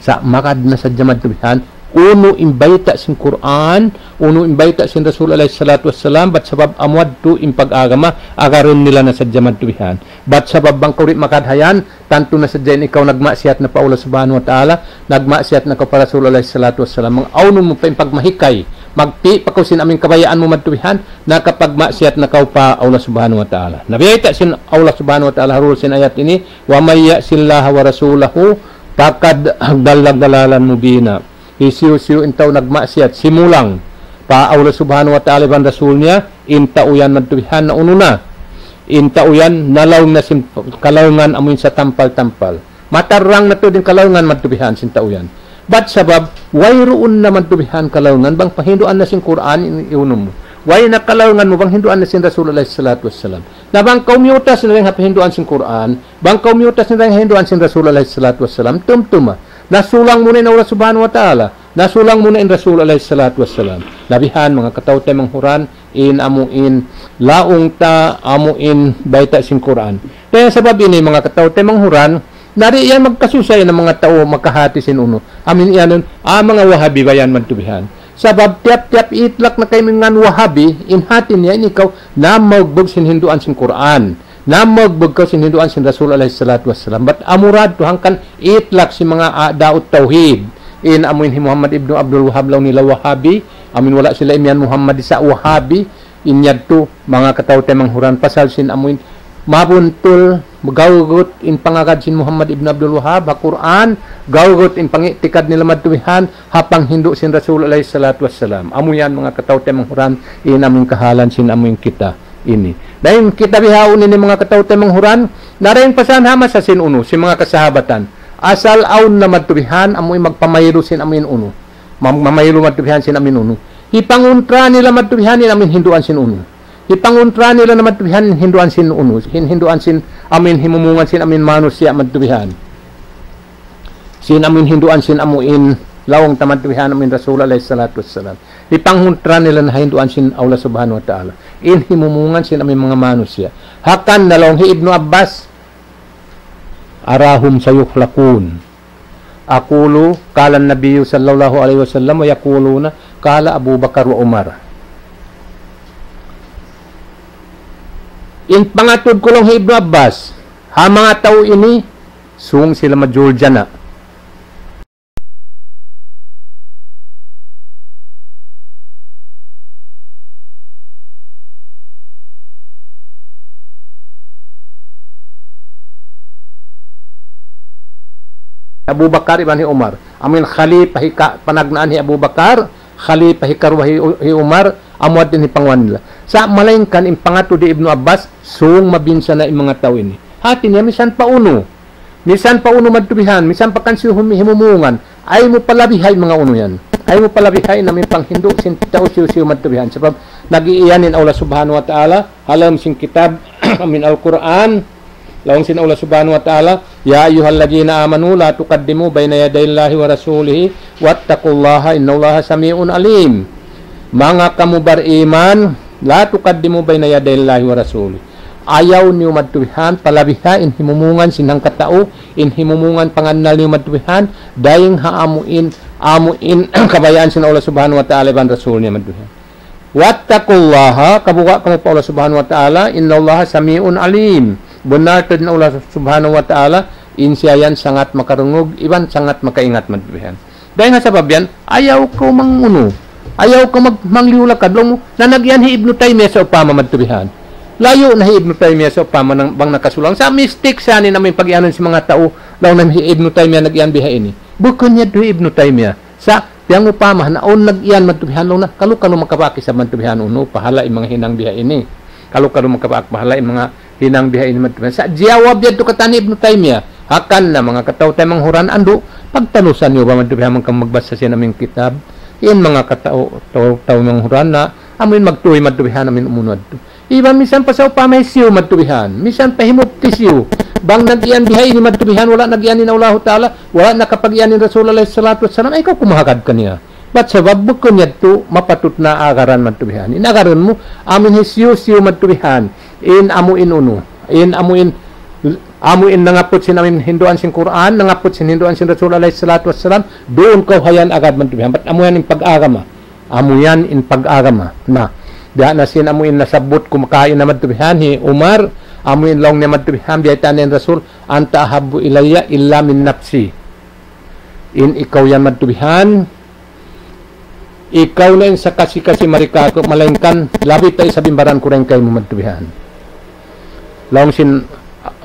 Sa' magad na sadja madtu bihan, unu in bayta' sin Qur'an, unu in bayta' sin Rasul alayhi salatu wassalam, bat sabab amu yadtu in pag-agama, agarun nila na sadja madtu bihan. Bat sabab bang kaw di' magad ha yan, tantu na sadja in ikaw nagmaksiyat na pa Allah Subhanahu wa Ta'ala, nagmaksiyat na kaw pa Rasul alayhi salatu wassalam. Bang awnun mu pa in pagmahikay, magpi' pa kaw sin amin kabayaan mu madtu bihan, nakapagmaksiyat na kaw pa Allah Subhanahu wa Ta'ala. Na biyayta' sin Allah Subhanahu wa Ta'ala ha duun sin ayat ini, ومن يعص الله ورسوله فقد ضل ضلالا مبينا. Hisiyu-siyu in tau nagmaksiyat, simulang pa Allah Subhanahu wa Ta'ala iban Rasul niya, in tau yan madtu bihan naunu na. In tau yan nalaung na sin kalaungan amu in satampal-tampal. Matarrang na tuud in kalaungan madtu bihan sin tau yan. Bat sabab, wayruun na madtu bihan kalaungan, bang pahinduan na sin Qur'an in iunum mu. Way na kalaungan mu, bang hinduan na sin Rasul alayhi salatu wassalam. Na bang kaw miyutas na dayn ha pahinduan sin Qur'an, bang kaw miyutas na dayn ha hinduan sin Rasul alayhi salatu wassalam, tumtuma. Nasulang mu na in Allah Subhanahu wa Ta'ala. Nasulang mu na in Rasul alayhi salatu wassalam. Na bihan, manga kataw-taymanghuran, in amu in laung ta, amu in bayta' sin Qur'an. Dayn ha sabab ini, manga kataw-taymanghuran, na di' yan magkasusa in manga tau makahati sin unu. Amu in iyanun, ah, manga Wahabi ba yan madtu bihan. Sabab tiyap-tiyap itlak na kaymu ngan Wahabi, in hati niya in ikaw, namagbug sin hinduan sin Qur'an. Namagbug kaw sin hinduan sin Rasul alayhi salatu wassalam. Bat amura tuud hangkan itlak sin manga a'da'ut tawhid. In amu in hi Muhammad ibnu Abdul Wahhab laung nila Wahabi. Amu in wala' sila imiyan Muhammad sa' Wahabi. In yadtu, manga kataw-taymanghuran pasal sin amu in mabuntul, magawgut in pangagad sin Muhammad ibnu Abdul Wahhab, ha Qur'an, gawgut in pangi'tikad nila madtu bihan, ha panghindu' sin Rasul alayhi salatu wassalam. Amu yan, manga kataw-taymanghuran, in amu in kahalan sin amu in kita ini. Dayn kita bihaun ini manga kataw-taymanghuran, na dayn pa san ha masa sin unu, sin manga kasahabatan. Asal awn na madtu bihan, amu in magpamaylu sin amu in unu. Mam-, mamaylu madtu bihan sin amu in unu. Hipanguntra nila madtu bihan in amu in hinduan sin unu. Hipanguntra nila na madtu bihan in hinduan sin unu. Hin-, hinduan sin amu in himumungan sin amu in manusiya' madtu bihan. Sin amu in hinduan sin amu in laung ta madtu bihan amu in Rasul alayhi salatu wassalam. Hipanguntra nila na hinduan sin Allah Subhanahu wa Ta'ala. In himumungan sin amu in manga manusiya'. Hangkan na laung hi Ibnu Abbas, أراهم سيحلقون. أقول قال النبي صلى الله عليه وسلم ويقولون قال أبو بكر وعمر. In pangatud ku laung hi Ibnu Abbas, ha manga tau ini, sung sila majul jana. Abu Bakar iban hi Umar. Amu in khalifa hi ka-, panagnaan hi Abu Bakar, khalifa hikaruwa hi U-, hi Umar, amu yadtu in hipangunahan nila. Sa' malaingkan in pangatud hi Ibnu Abbas, sung mabinsana' in manga tau ini. Hati niya misan pa unu. Misan pa unu madtu bihan, misan pa kan siyu hum-, himumungan. Ayaw mu palabihay manga unu yan. Ayaw mu palabihay na amu in panghindu' sin tau siyu-siyu madtu bihan. Sabab nag-iiyan in Allah Subhanahu wa Ta'ala, ha lawm sin kitab, amu in Al-Qur'an, laung sin Allah Subhanahu wa Ta'ala, يا أيها الذين آمنوا لا تقدموا بين يدي الله ورسوله واتقوا الله إن الله سميع عليم. Manga kamu bariman, لا تقدموا بين يدي الله ورسوله. Ayaw niyu madtu bihan, palabihay in himumungan sin hangkatau, in himumungan pangannal niyu madtu bihan, dayng ha amu in, amu in kabayaan sin Allah Subhanahu wa Ta'ala iban Rasul niya madtu bihan. واتقوا الله, kabuga' kamu pa Allah Subhanahu wa Ta'ala, إن الله سميع عليم. Bunnal tuud in Allah Subhanahu wa Ta'ala, in siya yan sangat makarungug, iban sangat makaingat madtu bihan. Dayng ha sabab yan, ayaw kaw mangunu. Ayaw kaw mag-, mangliyu-lakad. Laung mu, na nag-iyan hi Ibnu Taymiyyah sawpama madtu bihan. Layu' na hi Ibnu Taymiyyah sawpama nang, bang nakasulang. Sa' mistake sa ini amu in pag-iyanun sin manga tau. Laung na hi Ibnu Taymiyyah nag-iyan biha ini. Bukun yadtu hi Ibnu Taymiyyah. Sa' piyangupama, na awn nag-iyan madtu bihan laung na. Kalu-kalu makabak isab madtu bihan unu, pahala' in manga hinang biha ini. Kalu-kalu makabak pahala' in manga hinang biha ini madtu bihan. Sa' jiyawab yadtu katan hi Ibnu Taymiyyah. Hangkan na manga kataw-taymanghuran andu', pagtalusan niyu ba madtu bihan bang kamu magbasa sin amu in kitab. In manga kataw-, taw-, taymanghuran na, amu in magtuy madtu bihan amu in umunu yadtu. Iban misan pa sawpama hisiyu madtu bihan. Misan pa hi mufti siyu. Bang nag-iyan bihaini madtu bihan, wala' nag-iyan in Allahu Ta'ala, wala' nakapag-iyan in Rasul alayhi salatu wassalam, ay kaw kumahagad kaniya. Bat sabab bukun yadtu mapatut na agaran madtu bihan. In agaran mu, amu in hisiyu-siyu madtu bihan. In amu in unu. In amu in, amu in nangaput sin amu in hinduan sin Qur'an, nangaput sin hinduan sin Rasul alayhi salatu wassalam, duun kaw hayan agad madtu bihan. Bat amu yan in pag-agama. Amu yan in pag-agama. Na, biya' na sin amu in nasabbut ku makaina madtu bihan, hi Umar, amu in laung niya madtu bihan, biya' itan in Rasul, "Anta ahabbu ilayya illa min nafsi." In ikaw yan madtu bihan, ikaw na in sakasi-kasi mari kāku', malaingkan labi pa isab in baran ku dayn kaymu madtu bihan. Laung sin,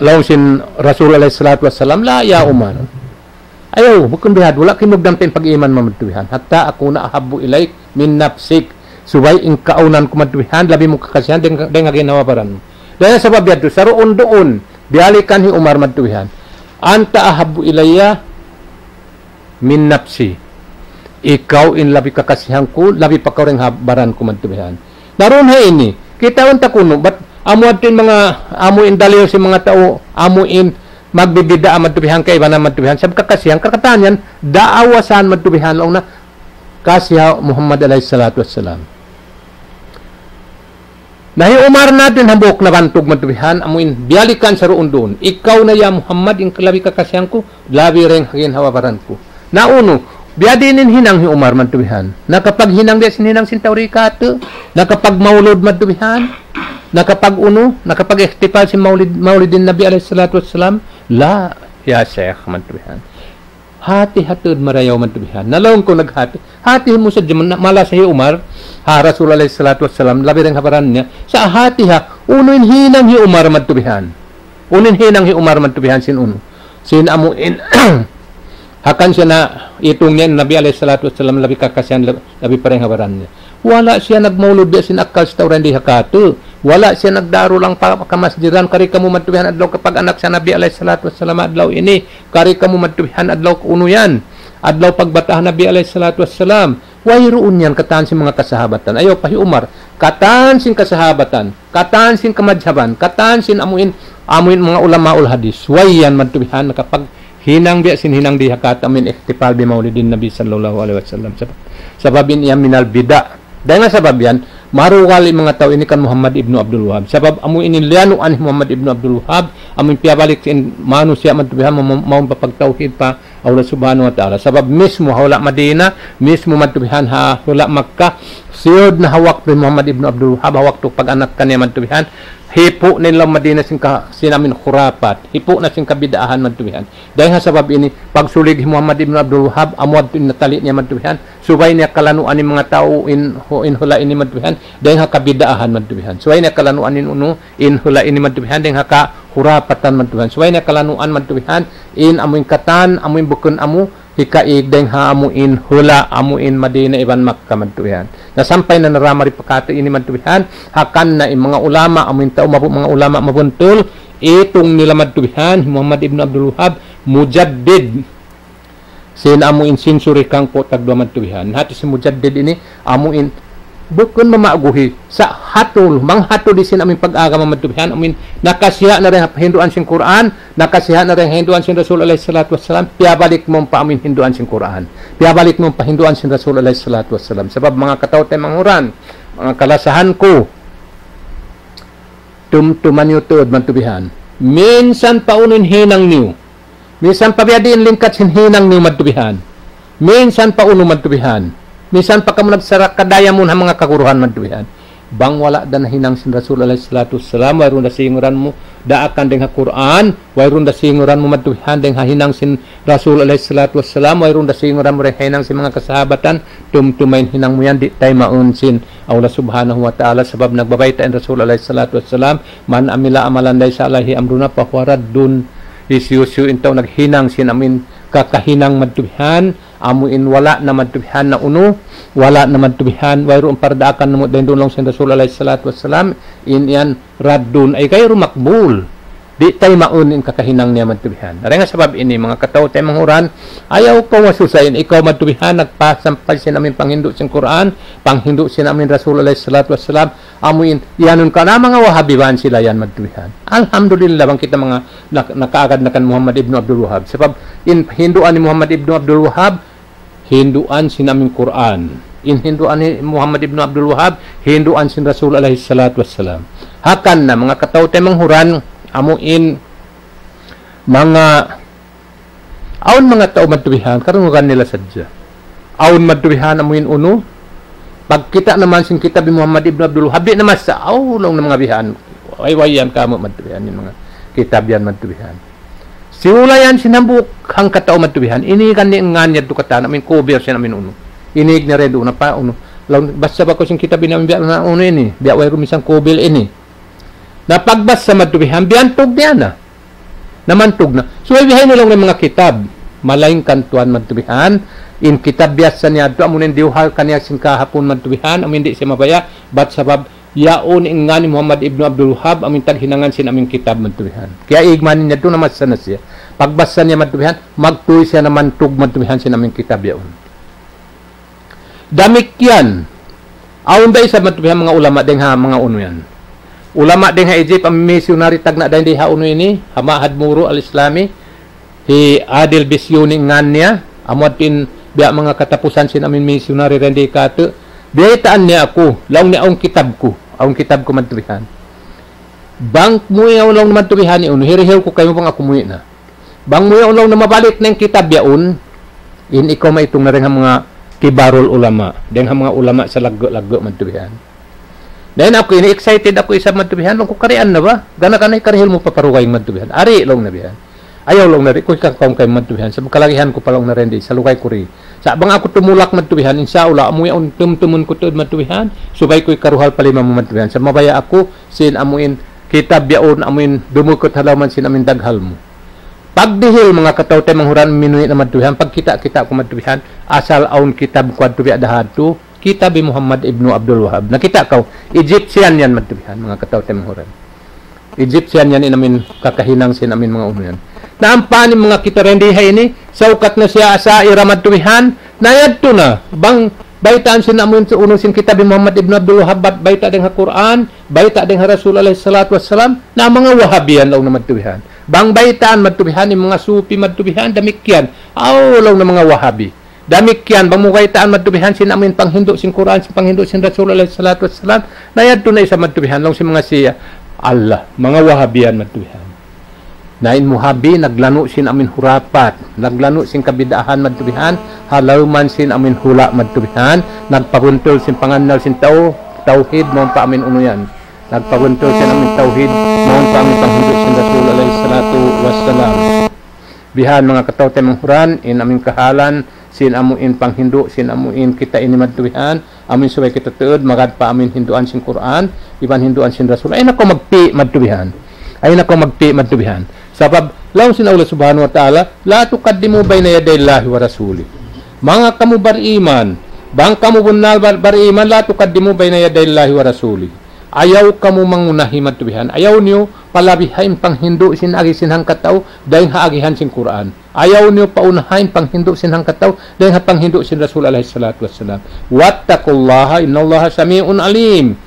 laung sin Rasul alayhi salatu wassalam, "La ya Umar." Ayaw, bukun bihadtu, wala' kimugdan pa in pag-iman mu madtu bihan. "Hatta akuna ahabbu ilayk min nafsik." Subay in kaunan ku madtu bihan, labi mu kakasihan, dayn, dayn ha ginhawa-baran mu. Dayn ha sabab yadtu, saruun-duun, biyalikan hi Umar madtu bihan. "Anta ahabbu ilayya min nafsi." Ikaw in labi kakasihan ku, labi pa kaw dayn ha baran ku madtu bihan. Na duun ha ini, kitaun ta kunu', bat amu yadtu in manga, amu in dalil sin manga tau, amu in magbibid'a madtu bihan, kaibanan madtu bihan, sabab kakasihan, kakatan yan, daawa san madtu bihan, laung na, kasi ha Muhammad alayhi salatu wassalam. Na hi Umar na duun hambuuk nabantug madtu bihan, amu in biyalikan saruun-duun. Ikaw na ya Muhammad, in labi kakasihan ku, labi dayn ha ginhawa-baran ku. Na unu, biya' diin in hinang hi Umar madtu bihan. Nakapaghinang biya' sin hinang sin tau di' kātu', nakapagmaulud madtu bihan, nakapag-unu, nakapag-ihtifal sin maulid, maulidin Nabi alayhi salatu wassalam. La, ya Sheikh madtu bihan. Hati-hati tuud marayaw madtu bihan. Na laung ku naghati. Hati mu sadja man, malasa hi Umar, ha Rasul alayhi salatu wassalam, labi dayn ha baran niya. Sa' hati ha, unu in hinang hi Umar madtu bihan. Unu in hinang hi Umar madtu bihan sin unu. Sin amu in, hakan siya na itung niya Nabi alayhi salatu wassalam, labi kakasihan, lab-, labi pa dayn ha baran niya. Wala' siya nagmaulud biya' sin akkal sin tau di' ha kātu'. Wala' siya nagdaru lang pa kamasjidan, kari kamu madtu bihan adlaw kapag-anak sin Nabi alayhi salatu wassalam adlaw ini. Kari kamu madtu bihan adlaw unu yan. Adlaw pagbataa Nabi alayhi salatu wassalam. Wayruun yan katan sin manga kasahabatan. Ayaw pa hi Umar. Katan sin kasahabatan. Katan sin kamadhaban. Katan sin amu in, amu in manga ulamaul hadis. Way yan madtu bihan nakapaghinang biya' sin hinang di' ha kātu' amu in ihtifal bi maulidin Nabi sallallahu alayhi wasallam. Sabab, sabab in yan minal bid'a. Dayn ha sabab yan, marugal in manga tau ini kan Muhammad ibnu Abdul Wahhab. Sabab amu ini liyanuan hi Muhammad ibnu Abdul Wahhab, amu in piyabalik sin manusiya' madtu bihan, ma-, ma-, mawn pa pagtawhid pa Allah Subhanahu wa Ta'ala. Sabab mismu ha hula' Madina, mismu madtu bihan ha hula' Makkah, siyud na ha waktu hi Muhammad ibnu Abdul Wahhab, ha waktu pag-anak kaniya madtu bihan, hipu' na in lawm Madina sin ka-, sin amu in khurafat, hipu' na sin kabid'ahan madtu bihan. Dayn ha sabab ini, pagsulig hi Muhammad ibnu Abdul Wahhab, amu yadtu in natali niya madtu bihan, subay niya kalanuan in manga tau in, hu-, in hula' ini madtu bihan, dayn ha kabid'ahan madtu bihan. Subay niya kalanuan in unu, in hula' ini madtu bihan, dayn ha kahurapatan madtu bihan. Subay niya kalanuan madtu bihan, in amu in katan, amu in bukun amu, hikaig dayn ha amu in hula', amu in Madina iban Makkah madtu bihan. Na sampay na narā mari pa kātu' ini madtu bihan, hakan na in manga ulama, amu in tau mabu-, manga ulama mabuntul, itung nila madtu bihan, Muhammad ibnu Abdul Wahhab, mujaddid. Sin amu in century hangpu' tagduwa madtu bihan. Hati sin mujaddid ini, amu in bukun mamaguhi, sa' hatul, manghatul di sin amu in pag-agama madtu bihan, amu in nakasiha' na dayn ha hinduan sin Qur'an, nakasiha' na dayn ha hinduan sin Rasul alayhi salatu wassalam, piyabalik mu pa amu in hinduan sin Qur'an. Piyabalik mu pa hinduan sin Rasul alayhi salatu wassalam. Sabab manga kataw-taymanghuran, manga kalasahan ku, tumtuma niyu tuud madtu bihan. Minsan pa unu in hinang niyu. Minsan pa biya' diin lingkat sin hinang niyu madtu bihan. Minsan pa unu madtu bihan. Minsan pa kamu nagsaraka' dayamun ha manga kaguruhan madtu bihan. Bang wala' da nahinang sin Rasul alayhi salatu wassalam, wayruun da singuran mu daakan dayn ha Qur'an, wayruun da singuran mu madtu bihan dayn ha hinang sin Rasul alayhi salatu wassalam, wayruun da singuran mu dayn ha hinang sin manga kasahabatan, tumtuma in hinang mu yan, di' taymaun sin Allah Subhanahu wa Ta'ala, sabab nagbabayta' in Rasul alayhi salatu wassalam, "Man amila amalan laysa alayhi amruna fahuwa raddun." Hisiyu-siyu in tau naghinang sin amu in kakahinang madtu bihan, amu in wala' na madtu bihan na unu, wala' na madtu bihan, wayruun pardaakan namu' dayn duun laung sin Rasul alayhi salatu wassalam, in yan raddun, ay gayru maqbul. Di' taymaun in kakahinang niya madtu bihan. Dayn ha sabab ini, manga kataw-taymanghuran, ayaw kaw masusa in ikaw madtu bihan, nagpasampay sin amin panghindu' sin Qur'an, panghindu' sin amin Rasul alayhi salatu wassalam, amu in, iyanun ka na manga Wahabi bang sila yan madtu bihan. Alhamdulillah, bang kita manga nak-, nakaagad na kan Muhammad ibnu Abdul Wahhab. Sabab, in hinduan ni Muhammad ibnu Abdul Wahhab, hinduan sin amin Qur'an. In hinduan ni Muhammad ibnu Abdul Wahhab, hinduan sin Rasul alayhi salatu wassalam. Hangkan na, manga kataw-taymanghuran, amu in manga, awn manga tau madtu bihan, karungugan nila sadja. Awn madtu bihan, amu in unu, pagkita' naman sin kitab ni Muhammad ibnu Abdul Wahhab, di' na masa, aw, laung na manga bihan. Way-way yan kamu madtu bihan, in manga kitab yan madtu bihan. Siyulayan sin hambuuk hangkatau madtu bihan. Ini kan in ngan yadtu katan, amin kubir sin amin unu. Ini igna redu na pa unu. Laung, basa ba kaw sin kitab ini, amin biya' na unu ini. Biya' way rumisan kubil ini. Na pagbasa madtu bihan, biyantug niya na. Namantug na. So, bihaini laung na manga kitab. Malaingkan tuwan madtu bihan. In kitab biyasa niya yadtu, amun in diyuhal kaniya sin kahapun madtu bihan, amun di' siya mabaya', bat sabab yaun in ngan ni Muhammad ibnu Abdul Wahhab, amin taghinangan sin amin kitab madtu bihan. Kaya igmanin niya yadtu na masa na siya. Pagbasa niya madtu bihan, magtuy siya namantug madtu bihan sin amin kitab yaun. Damikkiyan, awn da isab madtu bihan manga ulama dayn ha manga unu yan. Ulama dayn ha Egypt, amin missionary tagna' dayn di ha unu ini, ha Ma'had Muru al-Islami, hi Adil Bisyuni ngan niya, amu yadtu in biya' manga katapusan sin amin missionary dayn di katu'. Biyaytaan niya aku, laung niya awn kitab ku, awn kitab ku madtu bihan. Bang muwi' awn laung madtu bihan ini, hirihiw ku kaymu bang aku muwi' na. Bang muwi' awn laung na mabalik na in kitab yaun, in ikaw maitung na dayn ha manga kibarul ulama, dayn ha manga ulama salaggu'-laggu' madtu bihan. Dayn aku ini excited aku isab madtu bihan, laung ku karian na ba? Gana-gana karihil mu pa parugaing madtu bihan. Ari laung na bihan. Ayaw laung na di' ku hikakaun kaymu madtu bihan. Sa' kalagihan ku pa laung na rendi, salugay ku ri. Sa' bang aku tumulak madtu bihan, insya Allah, amu yaun tumtumun ku tuud madtu bihan, subay ku hikaruhal pa lima mu madtu bihan. Sa' mabaya' aku, sin amu in kitab yaun, amu in dumukut ha lawm sin amu in daghal mu. Pagdihil manga kataw-taymanghuran, minuwi' na madtu bihan, pagkita'-kita' ku madtu bihan, asal awn kitab ku adtu biya' da hadtu, kitab hi Muhammad ibnu Abdul Wahhab. Nakita' kaw, Egyptian yan madtu bihan, manga kataw-taymanghuran. Egyptian yan in amin kakahinang sin amin manga unu yan. Na ampa in manga kita rendi ha ini, saukat na siya Asha'ira madtu bihan, na yadtu na, bang baytaan sin amu in unu sin kitab hi Muhammad ibnu Abdul Wahhab, bat bayta' dayn ha Qur'an, bayta' dayn ha Rasul alayhi salatu wassalam, na manga Wahabi yan laung na madtu bihan. Bang baytaan madtu bihan, in manga Sufi madtu bihan, damikkiyan. Aw, laung na manga Wahabi. Damikkiyan, bang mu baytaan madtu bihan, sin amu in panghindu' sin Qur'an, sin panghindu' sin Rasul alayhi salatu wassalam, na yadtu na isab madtu bihan, laung sin manga Shia. Allah, manga Wahabi yan madtu bihan. Na in Wahabi, naglanu' sin amu in hurapat, naglanu' sin kabid'ahan madtu bihan, ha lawm sin amu in hula' madtu bihan, nagpabuntul sin pangannal sin tau, tawhid, mawn pa amu in unu yan. Nagpabuntul sin amu in tawhid, mawn pa amu in panghindu' sin Rasul alayhi salatu wassalam. Bihan manga kataw-taymanghuran, in amu in kahalan, sin amu in panghindu', sin amu in kita ini madtu bihan, amu in subay kita tuud, magad pa amu in hinduan sin Qur'an, iban hinduan sin Rasul. Ayaw na kaw magpi' madtu bihan. Ayaw na kaw magpi' madtu bihan. Sabab, laung sin Allah subhanahu wa ta'ala, لا تقدموا بين يدي الله ورسوله. Manga kamu bariman, bang kamu bunnal bar-, bariman, لا تقدموا بين يدي الله ورسوله. Ayaw kamu mangunahi madtu bihan. Ayaw niyu palabiha in panghindu' sin agi sin hangkatau, dayn ha agihan sin Qur'an. Ayaw niyu paunaha in panghindu' sin hangkatau, dayn ha panghindu' sin Rasul alayhi salatu wassalam. واتقوا الله إن الله سميع عليم.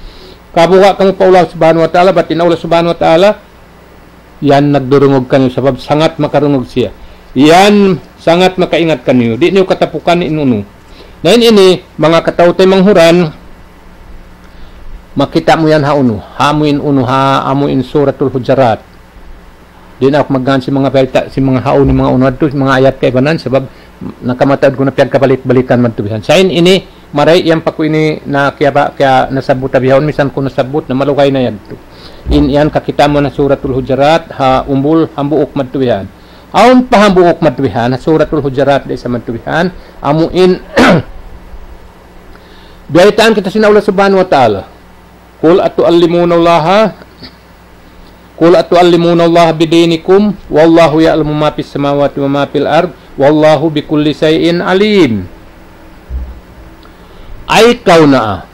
Kabuga' kamu pa Allah subhanahu wa ta'ala, bat in Allah subhanahu wa ta'ala, yan nagdurungug kaniyu sabab sangat makarungug siya. Yan sangat makaingat kaniyu. Di' niyu katapukan in unu. Na in ini, manga kataw-taymanghuran, makita' mu yan ha unu. Ha amu in unu, ha amu in Suratul Hujurat. Di' na aku magngān sin manga bayta', sin manga ha unu, manga unu yadtu, sin manga ayat kaibanan, sabab nakamataud ku na piyagkabalik-balikan madtu bihan. Sa' in ini, maray' yan pa ku ini na kiyaba-, kiya nasabbut bihaun, misan ku nasabbut na malugay na yadtu. In yan kakita' mu na Suratul Hujurat, ha umbul hambuuk madtu bihan. Awn pa hambuuk madtu bihan, ha Suratul Hujurat da isab madtu bihan. Amu in, biyaytaan kita sin Allah subhanahu wa ta'ala. قل أتعلمون الله قل أتعلمون الله بدينكم والله يعلم ما في السماوات وما في الأرض والله بكل شيء عليم. Ay kaw naa.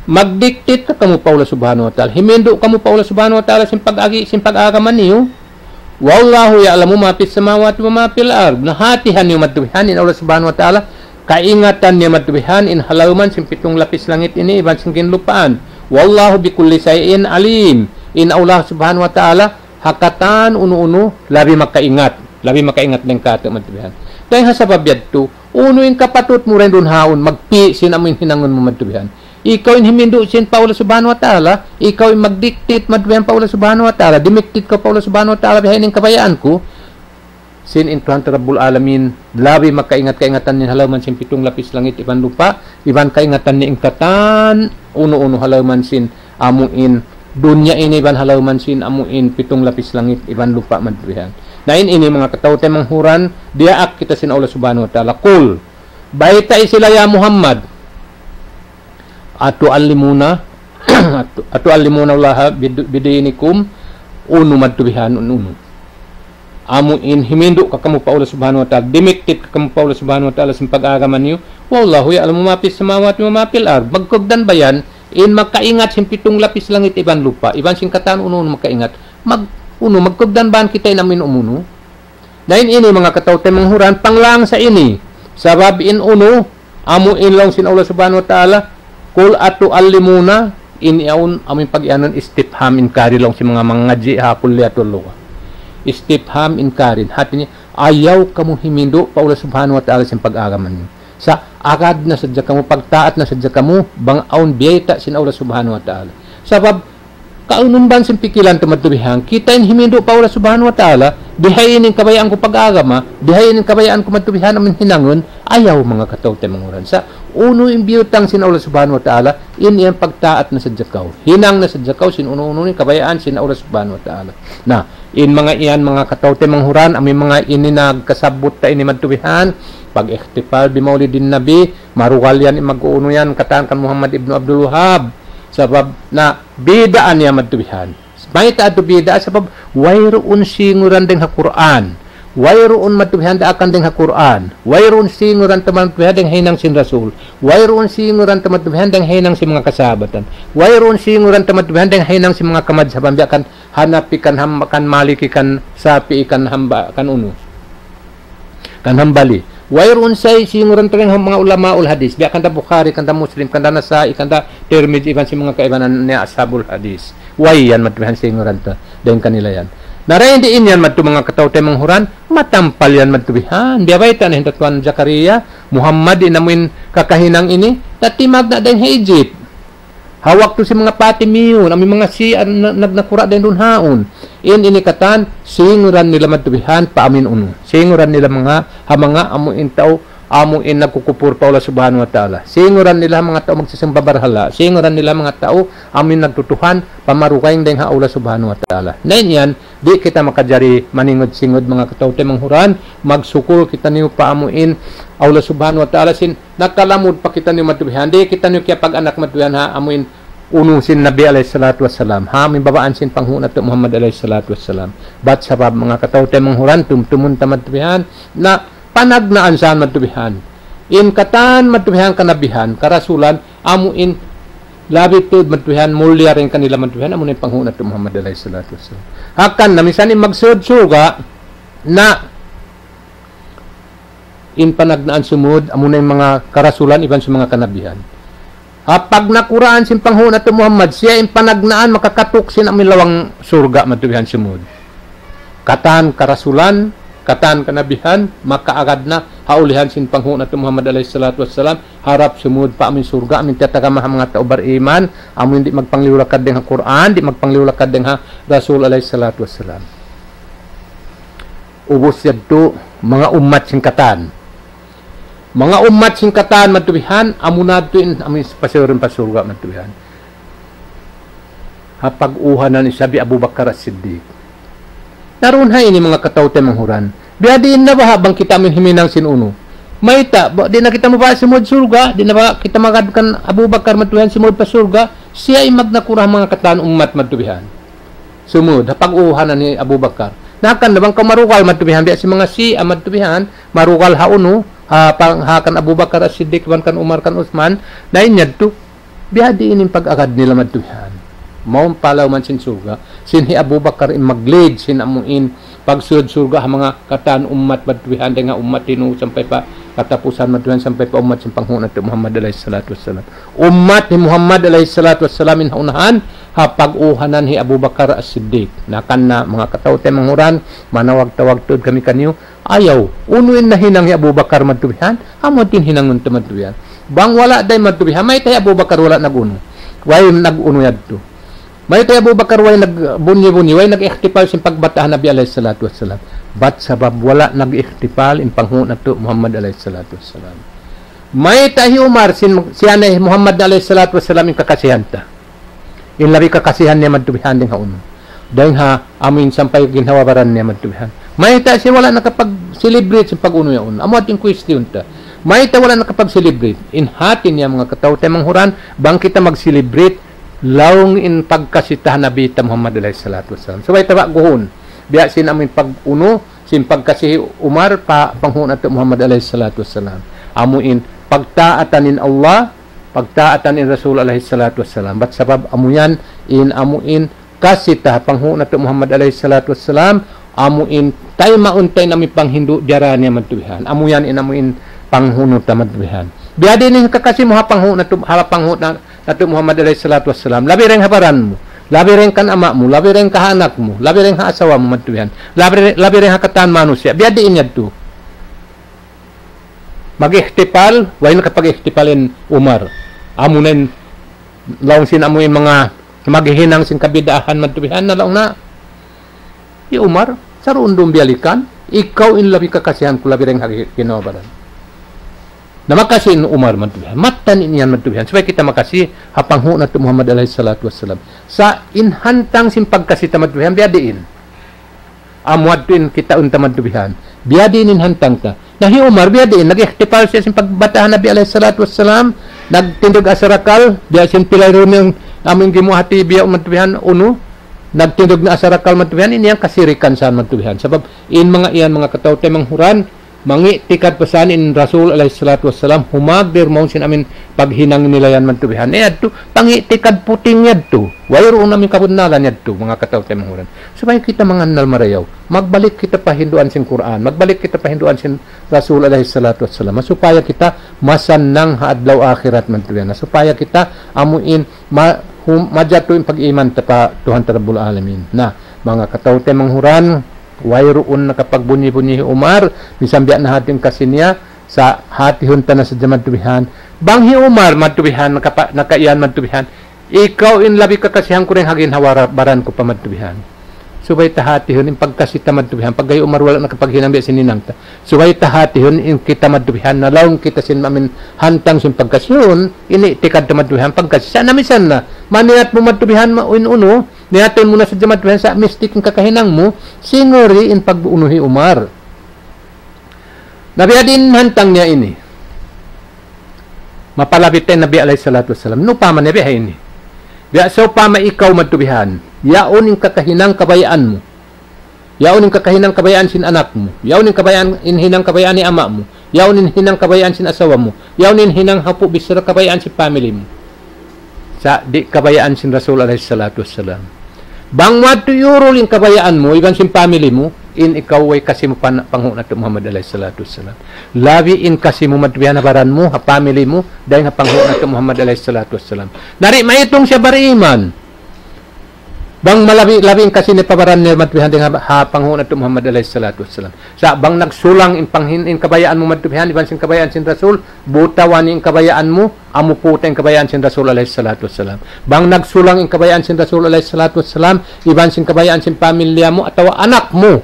Magdiktit ka kamu pa Allah Subhanahu wa Ta'ala. Himindu' kamu pa Allah Subhanahu wa Ta'ala sin pag-agi, sin pag-agama niyu. والله يعلم ما في السماوات وما في الأرض. Na hatihan niyu madtu bihan in Allah Subhanahu wa Ta'ala, kaingatan niya madtu bihan in halawman sin pitung lapis langit ini iban sin ginlupaan. والله بكل شيء عليم. In Allah Subhanahu wa Ta'ala ha katan unu-unu labi makaingat. Labi makaingat dayn kātu' madtu bihan. Dayn ha sabab yadtu, unu in kapatut mu dayn duun haun, magpi' sin amu in hinangun mu madtu bihan. Ikaw in himindu' sin pa Allah Subhanahu wa Ta'ala, ikaw in magdiktit madtu bihan pa Allah Subhanahu wa Ta'ala, dimiktit kaw pa Allah Subhanahu wa Ta'ala, bihaini in kabayaan ku, sin in Tuhan ta Rabbul Alamin, labi makaingat kaingatan niya halawman sin pitung lapis langit iban lupa', iban kaingatan niya in katan unu-unu halawman sin amu in dunya ini iban halawman sin amu in pitung lapis langit iban lupa' madtu bihan. Na in ini manga kataw-taymanghuran, diyaak kita sin Allah Subhanahu wa Ta'ala. قل, baytai sila ya Muhammad, أتعلمون, أتعلمون الله بد-, بدينكم, unu madtu bihan, unu. Amu in himindu' ka kamu pa Allah Subhanahu wa Ta'ala, dimiktit ka kamu pa Allah Subhanahu wa Ta'ala sin pag-agama niyu. والله يعلم ما في السماوات وما في الأرض. Magkugdan ba yan, in makaingat sin pitung lapis langit iban lupa', iban sin katan unu-unu makaingat. Mag-, unu, magkugdan ba yan kita in amu in umunu? Na in ini manga kataw-taymanghuran, panglang sa ini. Sabab in unu, amu in laung sin Allah Subhanahu wa Ta'ala, قل أتعلمون, in yaun amu in pag-iyanun istifham inkari laung sin manga mangadji' ha kulliyatul lugha. Istifham inkari. Hati niya, ayaw kamu himindu' pa Allah Subhanahu wa Ta'ala sin pag-agama niyu. Sa' agad na sadja kamu, pagtaat na sadja kamu, bang awn biyayta' sin Allah Subhanahu wa Ta'ala. Sabab, kaunun ban sin pikilan ta madtu bihan, kita in himindu' pa Allah Subhanahu wa Ta'ala, dihaini in kabayaan ku pag-agama, dihaini in kabayaan ku madtu bihan amu in hinangun, ayaw manga kataw-taymanghuran. Sa' unu in biyutang sin Allah Subhanahu wa Ta'ala, in yan pagtaat na sadja kaw. Hinang na sadja kaw sin unu-unu in kabayaan sin Allah Subhanahu wa Ta'ala. Na, in manga yan, manga kataw-taymanghuran, amu in manga ini nagkasabbut ta ini madtu bihan, pag-ihtipal bi Maulidin Nabi, marugal yan, mag-unu yan, katan kan Muhammad ibnu Abdul Wahhab. Sabab na bid'ah niya madtu bihan. Mayta' atu bid'ah? Sabab wayruun singuran dayn ha Qur'an. Wayruun madtu bihan daakan dayn ha Qur'an. Wayruun singuran ta madtu bihan dayn ha hinang sin Rasul. Wayruun singuran ta madtu bihan dayn ha hinang sin manga kasahabatan. Wayruun singuran ta madtu bihan dayn ha hinang sin manga kamadhaban, biya' kan Hanafi, kan Ham-, kan Maliki, kan Shafi'i, kan Hamba-, kan unu, kan Hambali. Wayruun sa singuran ta dayn ha manga ulamaul hadis. Biya' kan da Bukhari, kan da Muslim, kan da Nasa'i, kan da Tirmidhi, iban sin manga kaibanan niya ashabul hadis. Way yan madtu bihan singuran ta dayn kanila yan. Na dayn diin yan madtu manga kataw-taymanghuran, matampal yan madtu bihan. Biya' bayta' na hinda Tuan Zakaria, Muhammad in amu in kakahinang ini, na timagna' dayn ha Egypt. Ha waktu sin manga Fatimiyun, amu in manga Shia na-, nag-, nagkura' dayn duun haun. In ini katan, singuran nila madtu bihan pa amu in unu. Singuran nila manga, ha manga amu in tau, amu in nagkukupur pa Allah Subhanahu wa Ta'ala. Singuran nila manga tau magsisumba barhala. Singuran nila manga tau, amu in nagtutuhan, pa marugaing dayn ha Allah Subhanahu wa Ta'ala. Na in yan, di' kita makajari maningud-singud manga kataw-taymanghuran, magsukul kitaniyu pa amu in Allah Subhanahu wa Ta'ala sin nakalamud pa kitaniyu madtu bihan. Di' kitaniyu kiyapag-anak madtu bihan ha amu in unu sin Nabi alayhi salatu wassalam. Ha amu in babaan sin panghu' natu' Muhammad alayhi salatu wassalam. Bat sabab manga kataw-taymanghuran tumtumun ta madtu bihan na panagnaan sa madtu bihan. In katan madtu bihan kanabihan, karasulan, amu in labi tuud madtu bihan, mulia dayn kanila madtu bihan, amu na in panghu' natu' Muhammad alayhi salatu wassalam. Hangkan na minsan in magsud surga' na in panagnaan sumud, amu na in manga karasulan iban sin manga kanabihan. Ha pagnakuraan sin panghu' natu' Muhammad, siya in panagnaan makakatuk sin amu in lawang surga' madtu bihan sumud. Katan karasulan, katan kanabihan, makaagad na ha ulihan sin panghu' natu' Muhammad alayhi salatu wassalam, harap sumud pa amu in surga', amu in tiyatagama ha manga tau bariman, amu in di' magpangliyu lakad dayn ha Qur'an, di' magpangliyu lakad dayn ha Rasul alayhi salatu wassalam. Ubus yadtu, manga ummat sin katan. Manga ummat sin katan madtu bihan, amu na yadtu in, amu in pasayuran pa surga' madtu bihan. Ha pag-uhanan isab hi Abu Bakar As-Siddiq. Na duun ha ini manga kataw-taymanghuran. Biya' diin na baha' bang kita amu in himinang sin unu. Mayta', ba, di' na kita mabaha' sumud surga', di' na baha' kita magad kan Abu Bakar madtu bihan sumud pa surga', siya in magnakura' manga katan ummat madtu bihan. Sumud, ha pag-uhanan hi Abu Bakar. Na hangkan na bang kaw marugal madtu bihan, biya' sin manga Shia madtu bihan, marugal ha unu, ha pang-, ha kan Abu Bakar As-Siddiq, kan Umar, kan Uthman, na in yadtu. Biya' diin in pag-agad nila madtu bihan. Mawn pa lawm sin surga'. Sin hi Abu Bakar in mag-lead sin amu in pagsud surga' ha manga katan ummat madtu bihan, dayn ha ummat hi Nuh sampay pa katapusan madtu bihan, sampay pa ummat sin panghu' natu' Muhammad alayhi salatu wassalam. Ummat hi Muhammad alayhi salatu wassalam in ha unahan, ha pag-uhanan hi Abu Bakar As-Siddiq. Na kan na manga kataw-taymanghuran, manawag-tawag tuud kami kaniyu, ayaw, unu in nahinang hi Abu Bakar madtu bihan, amu in hinangun ta madtu bihan. Bang wala' da in madtu bihan, mayta' hi Abu Bakar wala' nag-unu. Way nag-unu yadtu. Mayta' hi Abu Bakar way nagbunyi-bunyi, way nag-ihtifal sin pagbata' ha Nabi alayhi salatu wassalam. Bat sabab wala' nag-ihtifal in panghu' natu' Muhammad alayhi salatu wassalam. Mayta' hi Umar sin, siya na hi Muhammad alayhi salatu wassalam in kakasihan ta. In labi kakasihan niya madtu bihan dayn ha unu. Dayn ha amu in sampay ginhawa-baran niya madtu bihan. Mayta' siya wala' nakapag-celebrate sin pag-unu yaun. Amu yadtu in question ta. Mayta' wala' nakapag-celebrate. In hati niya manga kataw-taymanghuran, bang kita mag-celebrate, laung in pagkasi ta ha Nabi ta Muhammad alayhi salatu wassalam. Subay ta ba'guhun. Biya' sin amu in pag-unu, sin pagkasi hi Umar pa panghu' natu' Muhammad alayhi salatu wassalam. Amu in pagtaatan in Allah, pagtaatan in Rasul alayhi salatu wassalam. Bat sabab amu yan in amu in kasi ta ha panghu' natu' Muhammad alayhi salatu wassalam, amu in taymaun ta in amu in panghindu' diyara niya madtu bihan. Amu yan in amu in panghu' natu' madtu bihan. Biya' diin in kakasi mu ha panghu' natu', ha panghu' na-, natu' Muhammad alayhi salatu wassalam. Labi dayn ha baran mu, labi dayn kan ama' mu, labi dayn kan anak mu, labi dayn ha asawa mu madtu bihan. Labi, labi dayn ha katan manusiya'. Biya' diin yadtu. Mag-ihtifal, way nakapag-ihtifal in Umar. Amu na in, laung sin amu in manga maghihinang sin kabid'ahan madtu bihan na laung na. Hi Umar, saruun-duun biyalikan, ikaw in labi kakasihan ku labi dayn ha ginhawa-baran. Na makasi in Umar madtu bihan. Mattan in yan madtu bihan. Subay kita makasi ha panghu' natu' Muhammad alayhi salatu wassalam. Sa' in hantang sin pagkasi ta madtu bihan, biya' diin. Amu yadtu in kitaun ta madtu bihan. Biya' diin in hantang ta. Na hi Umar, biya' diin, nag-ihtifal siya sin pagbata' ha Nabi alayhi salatu wassalam, nagtindug asarakal, biya' sin pilay run in amu in gimuwa' ha T V yaun madtu bihan, unu, nagtindug na asarakal madtu bihan, in yan kasirikan sa madtu bihan. Sabab, in manga yan, manga kataw-taymanghuran, mangi'tikad pa sa in Rasul alayhi salatu wassalam, humagdir mawn sin amu in paghinang nila yan madtu bihan. Eh, yadtu, pangi'tikad puting yadtu. Wayruun amu in kabunnalan yadtu, manga kataw-taymanghuran. Supaya kita mangannal marayaw. Magbalik kita pa hinduan sin Qur'an. Magbalik kita pa hinduan sin Rasul alayhi salatu wassalam. Supaya kita masannang ha adlaw akhirat madtu bihan. Supaya kita amu in ma-, hum-, majatu in pag-iman ta pa Tuhan ta Rabbul Alamin. Na, manga kataw-taymanghuran, wayruun nakapagbunyi-bunyi hi Umar, misan biya' na hati in kasi niya, sa' hatihun ta na sadja madtu bihan. Bang hi Umar madtu bihan, nakapa-, nakaiyan madtu bihan, ikaw in labi kakasihan ku dayn ha ginhawa-baran ku pa madtu bihan. Subay ta hatihun in pagkasi ta madtu bihan. Pagga hi Umar wala' nakapaghinang biya' sin hinang ta. Subay ta hatihun in kita madtu bihan. Na laung kita sin amu in hantang sin pagkasi yaun, in i'tikad ta madtu bihan pagkasi. Sa' na misan na, maniyat mu madtu bihan, ma-, in unu, niyatun mu na sadja madtu bihan, sa' mistake in kakahinang mu, singuri in pag-unu hi Umar. Na biya' diin hantang niya ini. Mapalabit in Nabi alayhi salatu wassalam. Na upama niya biya' ini. Biya' sawpama ikaw madtu bihan. Yaun in kakahinang kabayaan mu. Yaun in kakahinang kabayaan sin anak mu. Yaun in kabayaan, in hinang kabayaan hi ama' mu. Yaun in hinang kabayaan sin asawa mu. Yaun in hinang hapu' bichara kabayaan sin family mu. Sa' di' kabayaan sin Rasul alayhi salatu wassalam. Bang madtu iyurul in kabayaan mu, iban sin family mu, in ikaw way kasi mu pa panghu' natu' Muhammad alayhi salatu wassalam. Labi in kasi mu madtu bihan ha baran mu, ha family mu, dayn ha panghu' natu' Muhammad alayhi salatu wassalam. Na di' maitung siya bariman. Bang malabi, labi in kasi niya pa baran niya madtu bihan dayn ha, ha panghu' natu' Muhammad alayhi salatu wassalam. Sa' bang nagsulang in panghin-, in kabayaan mu madtu bihan, iban sin kabayaan sin Rasul, butawan in kabayaan mu, amu puta' in kabayaan sin Rasul alayhi salatu wassalam. Bang nagsulang in kabayaan sin Rasul alayhi salatu wassalam, iban sin kabayaan sin pamilya mu, atawa anak mu,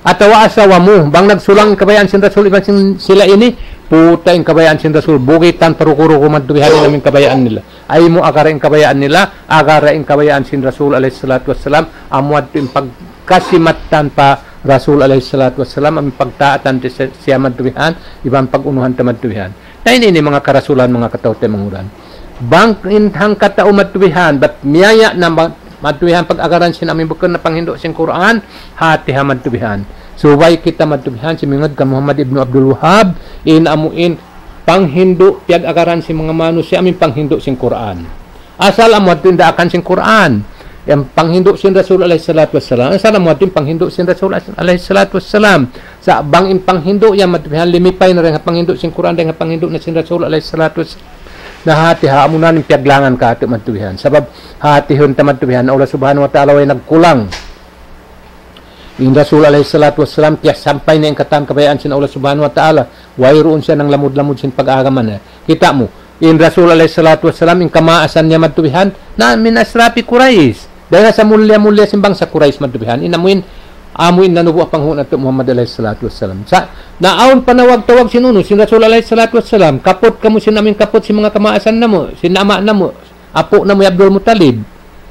atawa asawa mu, bang nagsulang in kabayaan sin Rasul, iban sin sila ini, puta' in kabayaan sin Rasul, bugitan pa ruku-ruku madtu bihan in amu in kabayaan nila. Ayaw mu agara in kabayaan nila, agara in kabayaan sin Rasul alayhi salatu wassalam, amu yadtu in pagkasi mattan pa Rasul alayhi salatu wassalam, amu in pagtaatan ta siya, siya madtu bihan, iban pag-unuhan ta madtu bihan. Na ini, ini manga karasulan, manga kataw-taymanghuran. Bang in hangkatau madtu bihan, bat miyaya' na ma-, madtu bihan pag-agaran sin amu in bukun na panghindu' sin Qur'an, hati ha madtu bihan. Subay kita madtu bihan, simingud kan Muhammad ibnu Abdul Wahhab, in amu in panghindu' piyag-agaran sin manga manusiya' amu in panghindu' sin Qur'an. Asal amu yadtu in daakan sin Qur'an. In panghindu' sin Rasul alayhi salatu wassalam. Asal amu yadtu in panghindu' sin Rasul alayhi salatu wassalam. Sa' bang in panghindu' yan madtu bihan limipay na dayn ha panghindu' sin Qur'an, dayn ha panghindu' na sin Rasul alayhi salatu wassalam. Na hati ha amu na in piyaglangan katu' madtu bihan. Sabab hati hun ta madtu bihan, Allah Subhanahu wa Ta'ala way nagkulang. In Rasul alayhi salatu wassalam, tiyasampay niya in katan kabayaan sin Allah Subhanahu wa Ta'ala. Wayruun siya nanglamud-lamud sin pag-agama niya. Kita' mu, in Rasul alayhi salatu wassalam, in kamaasan niya madtu bihan, na min ashrafi Quraysh. Dayn ha samulliya-mulliya sin bangsa Quraysh madtu bihan. In amu in, amu in nanubu' ha panghu' natu' Muhammad alayhi salatu wassalam. Sa', na awn panawag-tawag sin unu, sin Rasul alayhi salatu wassalam, kaput kamu sin amu in kaput sin manga kamaasan namu', sin ama' namu', apu' namu' hi Abdul Muttalib.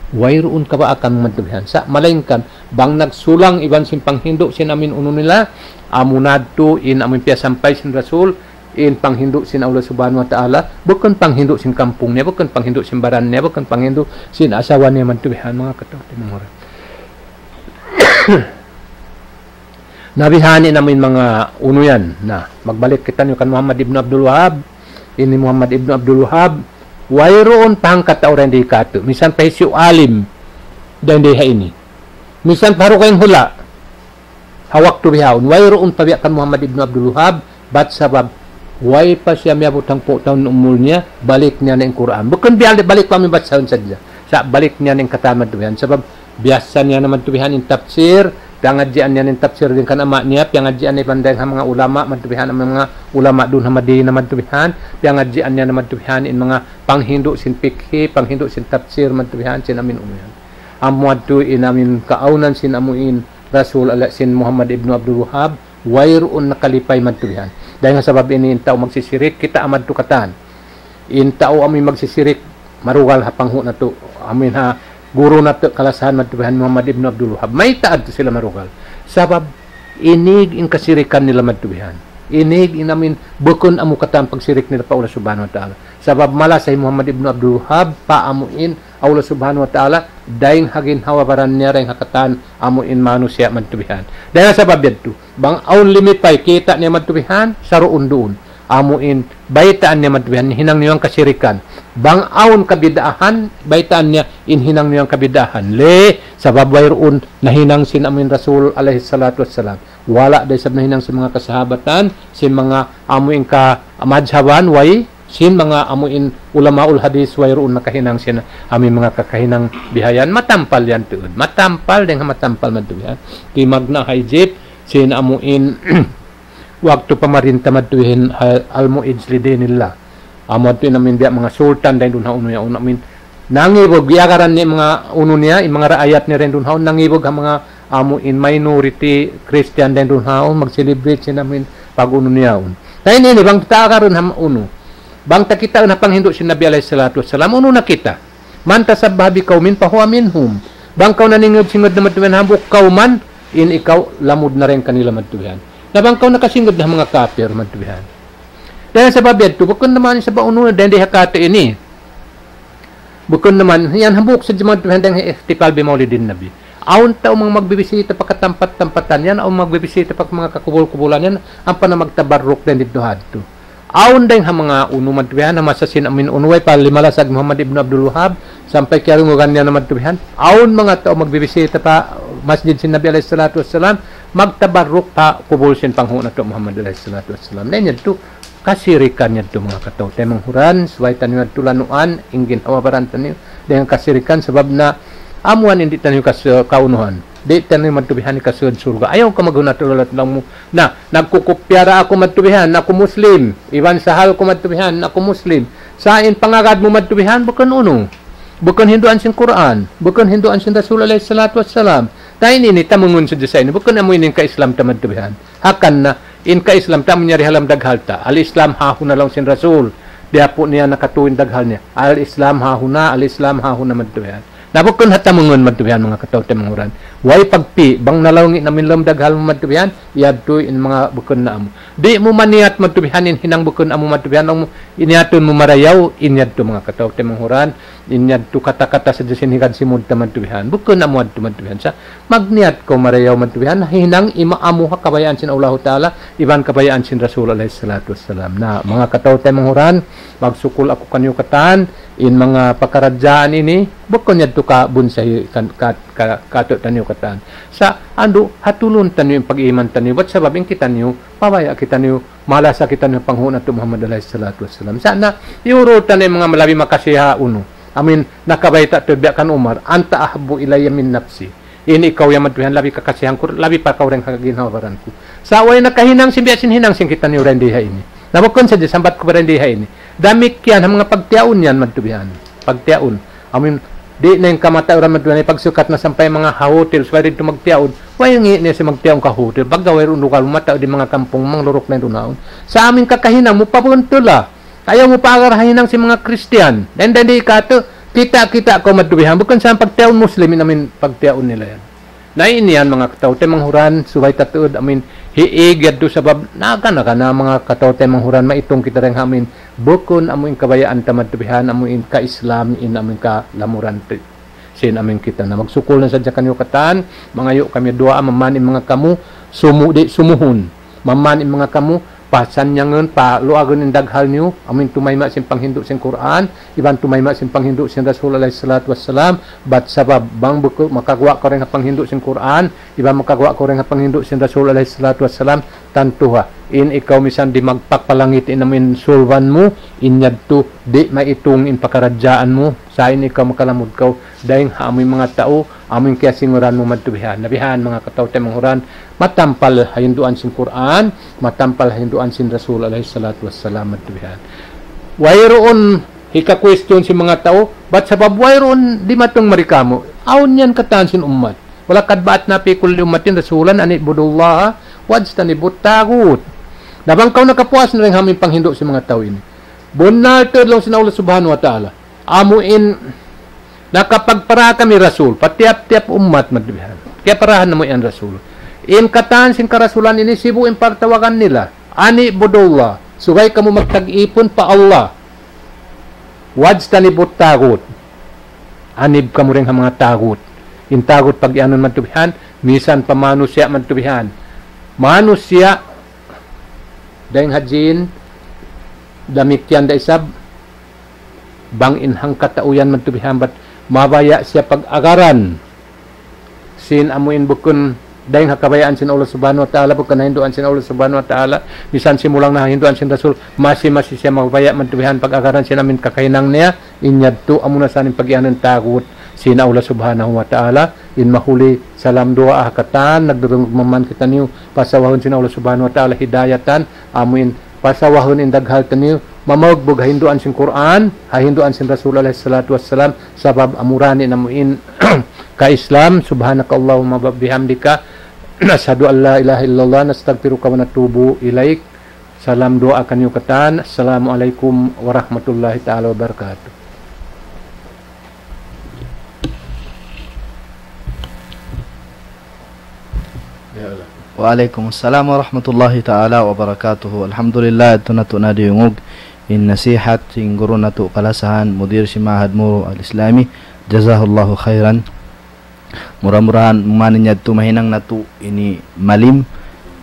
Wayruun kabaakan madtu bihan. Sa' malaingkan, bang nagsulang iban sin panghindu' sin amu in unu nila, amu na yadtu in amu in piyasampay sin Rasul, in panghindu' sin Allah Subhanahu wa Ta'ala, bukun panghindu' sin kampung niya, bukun panghindu' sin baran niya, bukun panghindu' sin asawa niya madtu bihan, manga kataymanghuran. Na bihan in amu in manga unu yan. Na, magbalik kitaniyu kan Muhammad ibn Abdul Wahhab. Ini Muhammad ibn Abdul Wahhab, wayruun pa hangkatau dayn di katu'. Minsan pa hisiyu alim dayn di ha ini. Minsan pa ha dugaing hula'. Ha waktu bihaun, wayruun pa biya' kan Muhammad ibn Abdul Wahhab, bat sabab, way pa siya miyabut hangpu' tahun umul niya, balik niya na in Qur'an. Bukun biya' balik pa amu in basahun sadja. Sa' balik niya na in katan madtu bihan. Sabab, biyassa niya na madtu bihan in tafsir, piyangadjian niya in tafsir dayn kan ama' niya, piyangadjian niya iban dayn ha manga ulama madtu bihan, manga ulama duun ha Madina madtu bihan, piyangadjian niya na madtu bihan in manga panghindu' sin fikhi, panghindu' sin tafsir madtu bihan, sin amu in unu yan. Amu yadtu in amu in kaawnan sin amu in Rasul ala sin Muhammad ibn Abdul Wahhab, wayruun nakalipay madtu bihan. Dayn ha sabab ini in tau magsisirik, kita' madtu katan. In tau amu in magsisirik, marugal ha panghu' natu', amu in ha guru natu' kalasahan madtu bihan Muhammad ibn Abdul Wahhab. Mayta' yadtu sila marugal? Sabab, inig in kasirikan nila madtu bihan. Inig in amu in bukun amu katan pagsirik nila pa Allah Subhanahu wa Ta'ala. Sabab malasa hi Muhammad ibn Abdul Wahhab, pa amu in Allah Subhanahu wa Ta'ala, dayn ha ginhawa-baran niya, dayn ha katan amu in manusiya' madtu bihan. Dayn ha sabab yadtu, bang awn limipay kita' niya madtu bihan, saruun-duun. Amu in baytaan niya madtu bihan, hinang niya yan kasirikan. Bang awn kabid'ahan, baytaan niya in hinang niya yan kabid'ahan. Lay, sabab wayruun nahinang sin amu in Rasul alayhi salatu wassalam. Wala' da isab nahinang sin manga kasahabatan, sin manga amu in kamadhaban, way, sin manga amu in ulamaul hadith, wayruun nakahinang sin amu in manga kakahinang bihayan. Matampal yan tuud. Matampal dayn ha matampal madtu bihan. Timagna' ha Egypt, sin amu in waktu pamarinta madtu bihan ha Al-Mu'izz li dinillah. Amu yadtu in amu in biya' manga sultan dayn duun ha unu yaun amu in nangibug, iyagaran niya in manga unu niya, in manga raayat niya dayn duun ha unu, nangibug ha manga amu in minority Christian dayn duun ha unu, mag-celebrate sin amu in pag-unu niya yaun. Na ini, ini, bang kita agarun ha unu. Bang ta kitaun ha panghindu' sin Nabi alayhi salatu wassalam, unu na kita? من تشبه بقوم فهو منهم. Bang kaw naningud-singud na madtu bihan hambuuk kawman, in ikaw lamud na dayn kanila madtu bihan. Na bang kaw nakasingud na ha manga kapir madtu bihan. Dayn ha sabab yadtu, bukun na man sabab unu, dayn di ha katu' ini. Bukun na man, yan hambuuk sadja madtu bihan dayn ha ihtifal bi mawlidin Nabi. Awn tau manga magbibisita pa katampat-tampatan yan, awn magbibisita pa manga kakubul-kubulan yan, ampa na magtabarruk dayn didtu hadtu. Awn dayn ha manga unu madtu bihan, ha masa sin amu in unu way pa limalasag Muhammad ibn Abdul Wahhab, sampay kiyarungugan niya na madtu bihan. Awn manga tau magbibisita pa masjid sin Nabi alayhi salatu wassalam, magtabarruk pa kubul sin panghu' natu' Muhammad alayhi salatu wassalam. Na in yadtu, kasirikan yadtu manga kataw-taymanghuran, subay taniyu yadtu lanuan, in ginhawa-baran taniyu, dayn ha kasirikan sabab na amu yan in di' taniyu kas-, kaunuhan. Di' taniyu madtu bihan hikasud surga'. Ayaw kaw maghuna' tuud laung mu. Na, nagkukupya da aku madtu bihan, aku Muslim. Iban sahal ku madtu bihan, aku Muslim. Sa' in pangagad mu madtu bihan, bukun unu. Bukun hinduan sin Qur'an. Bukun hinduan sin Rasul alayhi salatu wassalam. Na ini, ini, tamungun sadja sa ini. Bukun amu ini in ka-Islam ta madtu bihan. Hangkan na, in ka-Islam ta amu in yari ha lawm daghal ta. الإسلام ها هنا laung sin Rasul. Biya' pu niya nakatu' in daghal niya. الإسلام ها هنا, الإسلام ها هنا madtu bihan. Na bukun ha tamungun madtu bihan manga kataw-taymanghuran. Way pagpi', bang nalaung in amin lawm daghal mu madtu bihan, yadtu in manga bukun na amu. Di' mu maniyat madtu bihan in hinang bukun amu madtu bihan, laung mu, in yadtu mu marayaw, in yadtu manga kataw-taymanghuran, in yadtu kata-kata sadja sin higad simud ta madtu bihan. Bukun amu yadtu madtu bihan. Sa' magniyat kaw marayaw madtu bihan, hinang ima amu ha kabayaan sin Allahu Ta'ala, iban kabayaan sin Rasul alayhi salatu wassalam. Na, manga kataw-taymanghuran, magsukul aku kaniyu katan, in manga pakaradjaan ini, bukun yadtu kabunsahi kan, ka, ka, katu' taniyu katan. Sa' andu', hatulun taniyu in pag-iman taniyu, bat sabab in kitaniyu, pabaya' kitaniyu, malasa kitaniyu panghu' natu' Muhammad alayhi salatu wassalam. Sa' na, iyurul taniyu in manga labi makasiha unu. Amin, nakabayta' tuud biya' kan Umar, "Anta ahabbu ilayya min nafsi." In ikaw yan madtu bihan labi kakasihan ku, labi pa kaw dayn ha ginhawa-baran ku. Sa' way nakahinang sin biya' sin hinang sin kitaniyu dayn di ha ini. Na bukun sadja sambat ku pa dayn di ha ini. Damikkiyan ha manga pagtiyaun yan madtu bihan. Pagtiyaun. Amin, di' na in kamatauran madtu bihan, pagsukat na sampay manga ha hotel, subay didtu magtiyaun. Way ngi' niya siya magtiyaun ka hotel. Pagga wayruun lugal, matau di' manga kampung, mangluruk na in dunaun. Sa' amin kakahinang mu, pabuntula. Ayaw mu paagar ha hinang sin manga Kristiyan. Dayn, dayn di katu', kita'-kita' kaw madtu bihan. Bukun sa pagtiyaun Muslim, in amin pagtiyaun nila yan. Na ini yan, manga kataw-taymanghuran, subay ta tuud, amin, hiig yadtu sabab, naga-naga na manga kataw-taymanghuran, maitung kita dayn ha amin, bukun amu in kabayaan ta madtu bihan, amu in ka-Islam, in amu in kalamuran ti-, sin amin kita na magsukul na sadja kaniyu katan, mangayu' kami duwaa, mamani manga kamu, sumu-, di', sumuhun. Mamani manga kamu, pasanyangun, paluagun in daghal niyu, amin tumayma' sin panghindu' sin Qur'an, iban tumayma' sin panghindu' sin Rasul alayhi salatu wassalam, bat sabab, bang buku, makaguwa' kaw dayn ha panghindu' sin Qur'an, iban makaguwa' kaw dayn ha panghindu' sin Rasul alayhi salatu wassalam, tantu ha, in ikaw misan di' magpakpalangit in amin sulban mu, in yadtu, di' maitung in pakaradjaan mu, sa' in ikaw makalamud kaw, dayn ha amuin manga tau, amuin kiyasinguran mu madtu bihan. Na bihan manga kataw-taymanghuran, matampal ha hinduan sin Qur'an, matampal ha hinduan sin Rasul alayhi salatu wassalam madtu bihan. Wayruun hika-question sin manga tau, bat sabab wayruun dimatung mari kamu. Awn yan katan sin ummat. وَلَقَدْ بَعَثْنَا فِي كُلِّ أُمَّةٍ رَسُولًا أَنِ اعْبُدُوا اللَّهَ وَاجْتَنِبُوا الطَّاغُوتَ. Na bang kaw nakapuas na dayn ha amuin panghindu' sin manga tau ini. Bunnal tuud laung sin Allah Subhanahu wa Ta'ala. Amuin nakapagpara kami rasul, pa tiyap-tiyap ummat madtu bihan. Kiyaparahan namu' yan rasul. In katan sin karasulan ini sibu' in pagtawagan nila. أَنِ اعْبُدُوا اللَّهَ. Subay kamu magtag-ipun pa Allah. وَاجْتَنِبُوا الطَّاغُوتَ. Anib kamu dayn ha manga tagut. In tagut pag-iyanun madtu bihan, misan pa manusiya' madtu bihan. Manusiya', dayn ha jin, damikkiyan da isab, bang in hangkatau yan madtu bihan, bat mabaya' siya pag-agaran sin amuin bukun dayn ha kabayaan sin Allah Subhanahu wa Ta'ala, bukun ha hinduan sin Allah Subhanahu wa Ta'ala, misan simulang na ha hinduan sin Rasul, masi-masi siya mabaya' madtu bihan pag-agaran sin amuin kakahinang niya, in yadtu amuna sa in pag-iyanun tagut sin Allah Subhanahu wa Ta'ala, in mahuli salam duwaa ha katan, nagdurung mamman kitaniyu, pasawahun sin Allah Subhanahu wa Ta'ala hidayatan, amuin pasawahun in daghal taniyu, mamagbug ha hinduan sin Qur'an, ha hinduan sin Rasul alayhi salatu wassalam, sabab amura ini namu' in ka-Islam. سُبْحَانَكَ اللَّهُمَّ وَبِحَمْدِكَ، نَشْهَدُ أَنْ لَا إِلَهَ إِلَّا اللَّهُ، نَسْتَغْفِرُكَ وَنَتُوبُ إِلَيْكَ. Salam duwaa kaniyu katan. السَّلَامُ عَلَيْكُمْ وَرَحْمَةُ اللَّهِ تَعَالَى وَبَرَكَاتُهُ. وعليكم السلام ورحمة الله تعالى وبركاته. Alhamdulillah, yadtu natu' na diyungug in nasihat sin guru natu' kalasahan, mudir sin Ma'had Muru Al-Islami. Jazahullahu khairan. Mura-murahan, mani yadtu mahinang natu' ini malim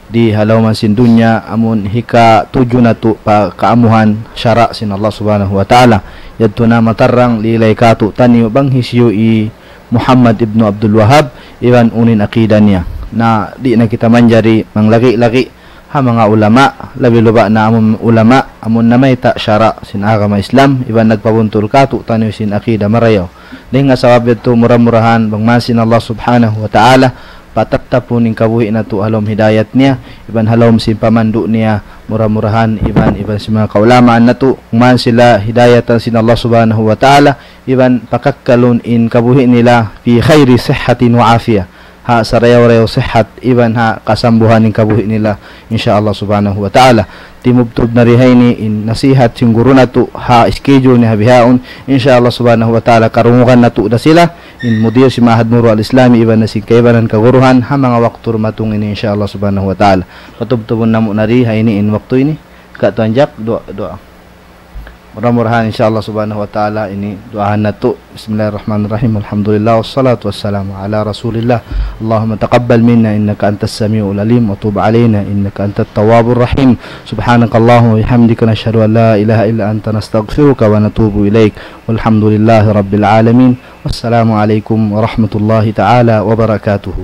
di ha lawm sin dunya, amun hikatuju natu' pa kaamuhan sara' sin Allah Subhanahu wa Ta'ala. Yadtu na matarrang lilay katu'taniyu bang hisiyu hi Muhammad ibnu Abdul Wahhab, iban unu in akida niya. Na di' na kita manjari manglagi'-lagi' ha manga ulama, labi-labi na amun ulama, amun namayta' sara' sin agama Islam, iban nagpabuntul katu'taniyu sin akida marayaw. Dayn ha sabab yadtu mura-murahan bang man sin Allah Subhanahu wa Ta'ala, patattapun in kabuhi' natu' ha lawm hidayat niya, iban ha lawm sin pamandu' niya, mura-murahan, iban, iban sin manga kaulamaan natu', man sila hidayatan sin Allah Subhanahu wa Ta'ala, iban pakakkalun in kabuhi' nila في خير صحة وعافية. Ha sarayaw-rayaw sihat, iban ha kasambuhan in kabuhi' nila, insya Allah Subhanahu wa Ta'ala. Timubtub na di ha ini in nasihat sin guru natu' ha schedule niya ha bihaun, insya Allah Subhanahu wa Ta'ala, karungugan natu' da sila, in mudir sin Ma'had Murwa Al-Islami iban na sin kaibanan kaguruhan ha manga waktu dumatung ini, insya Allah subhanahu wa ta'ala. Patubtubun namu' na di ha ini in waktu ini. Ka Tuan Jack, duwaa, duwaa. Mura-murahan, insya Allah subhanahu wa ta'ala, ini duwaahan natu'. بسم الله الرحمن الرحيم. الحمد لله والصلاة والسلام على رسول الله. اللهم تقبل منا إنك أنت السميع العليم وتب علينا إنك أنت التواب الرحيم. سبحانك اللهم وبحمدك، نشهد أن لا إله إلا أنت، نستغفرك ونتوب إليك. والحمد لله رب العالمين. والسلام عليكم ورحمة الله تعالى وبركاته.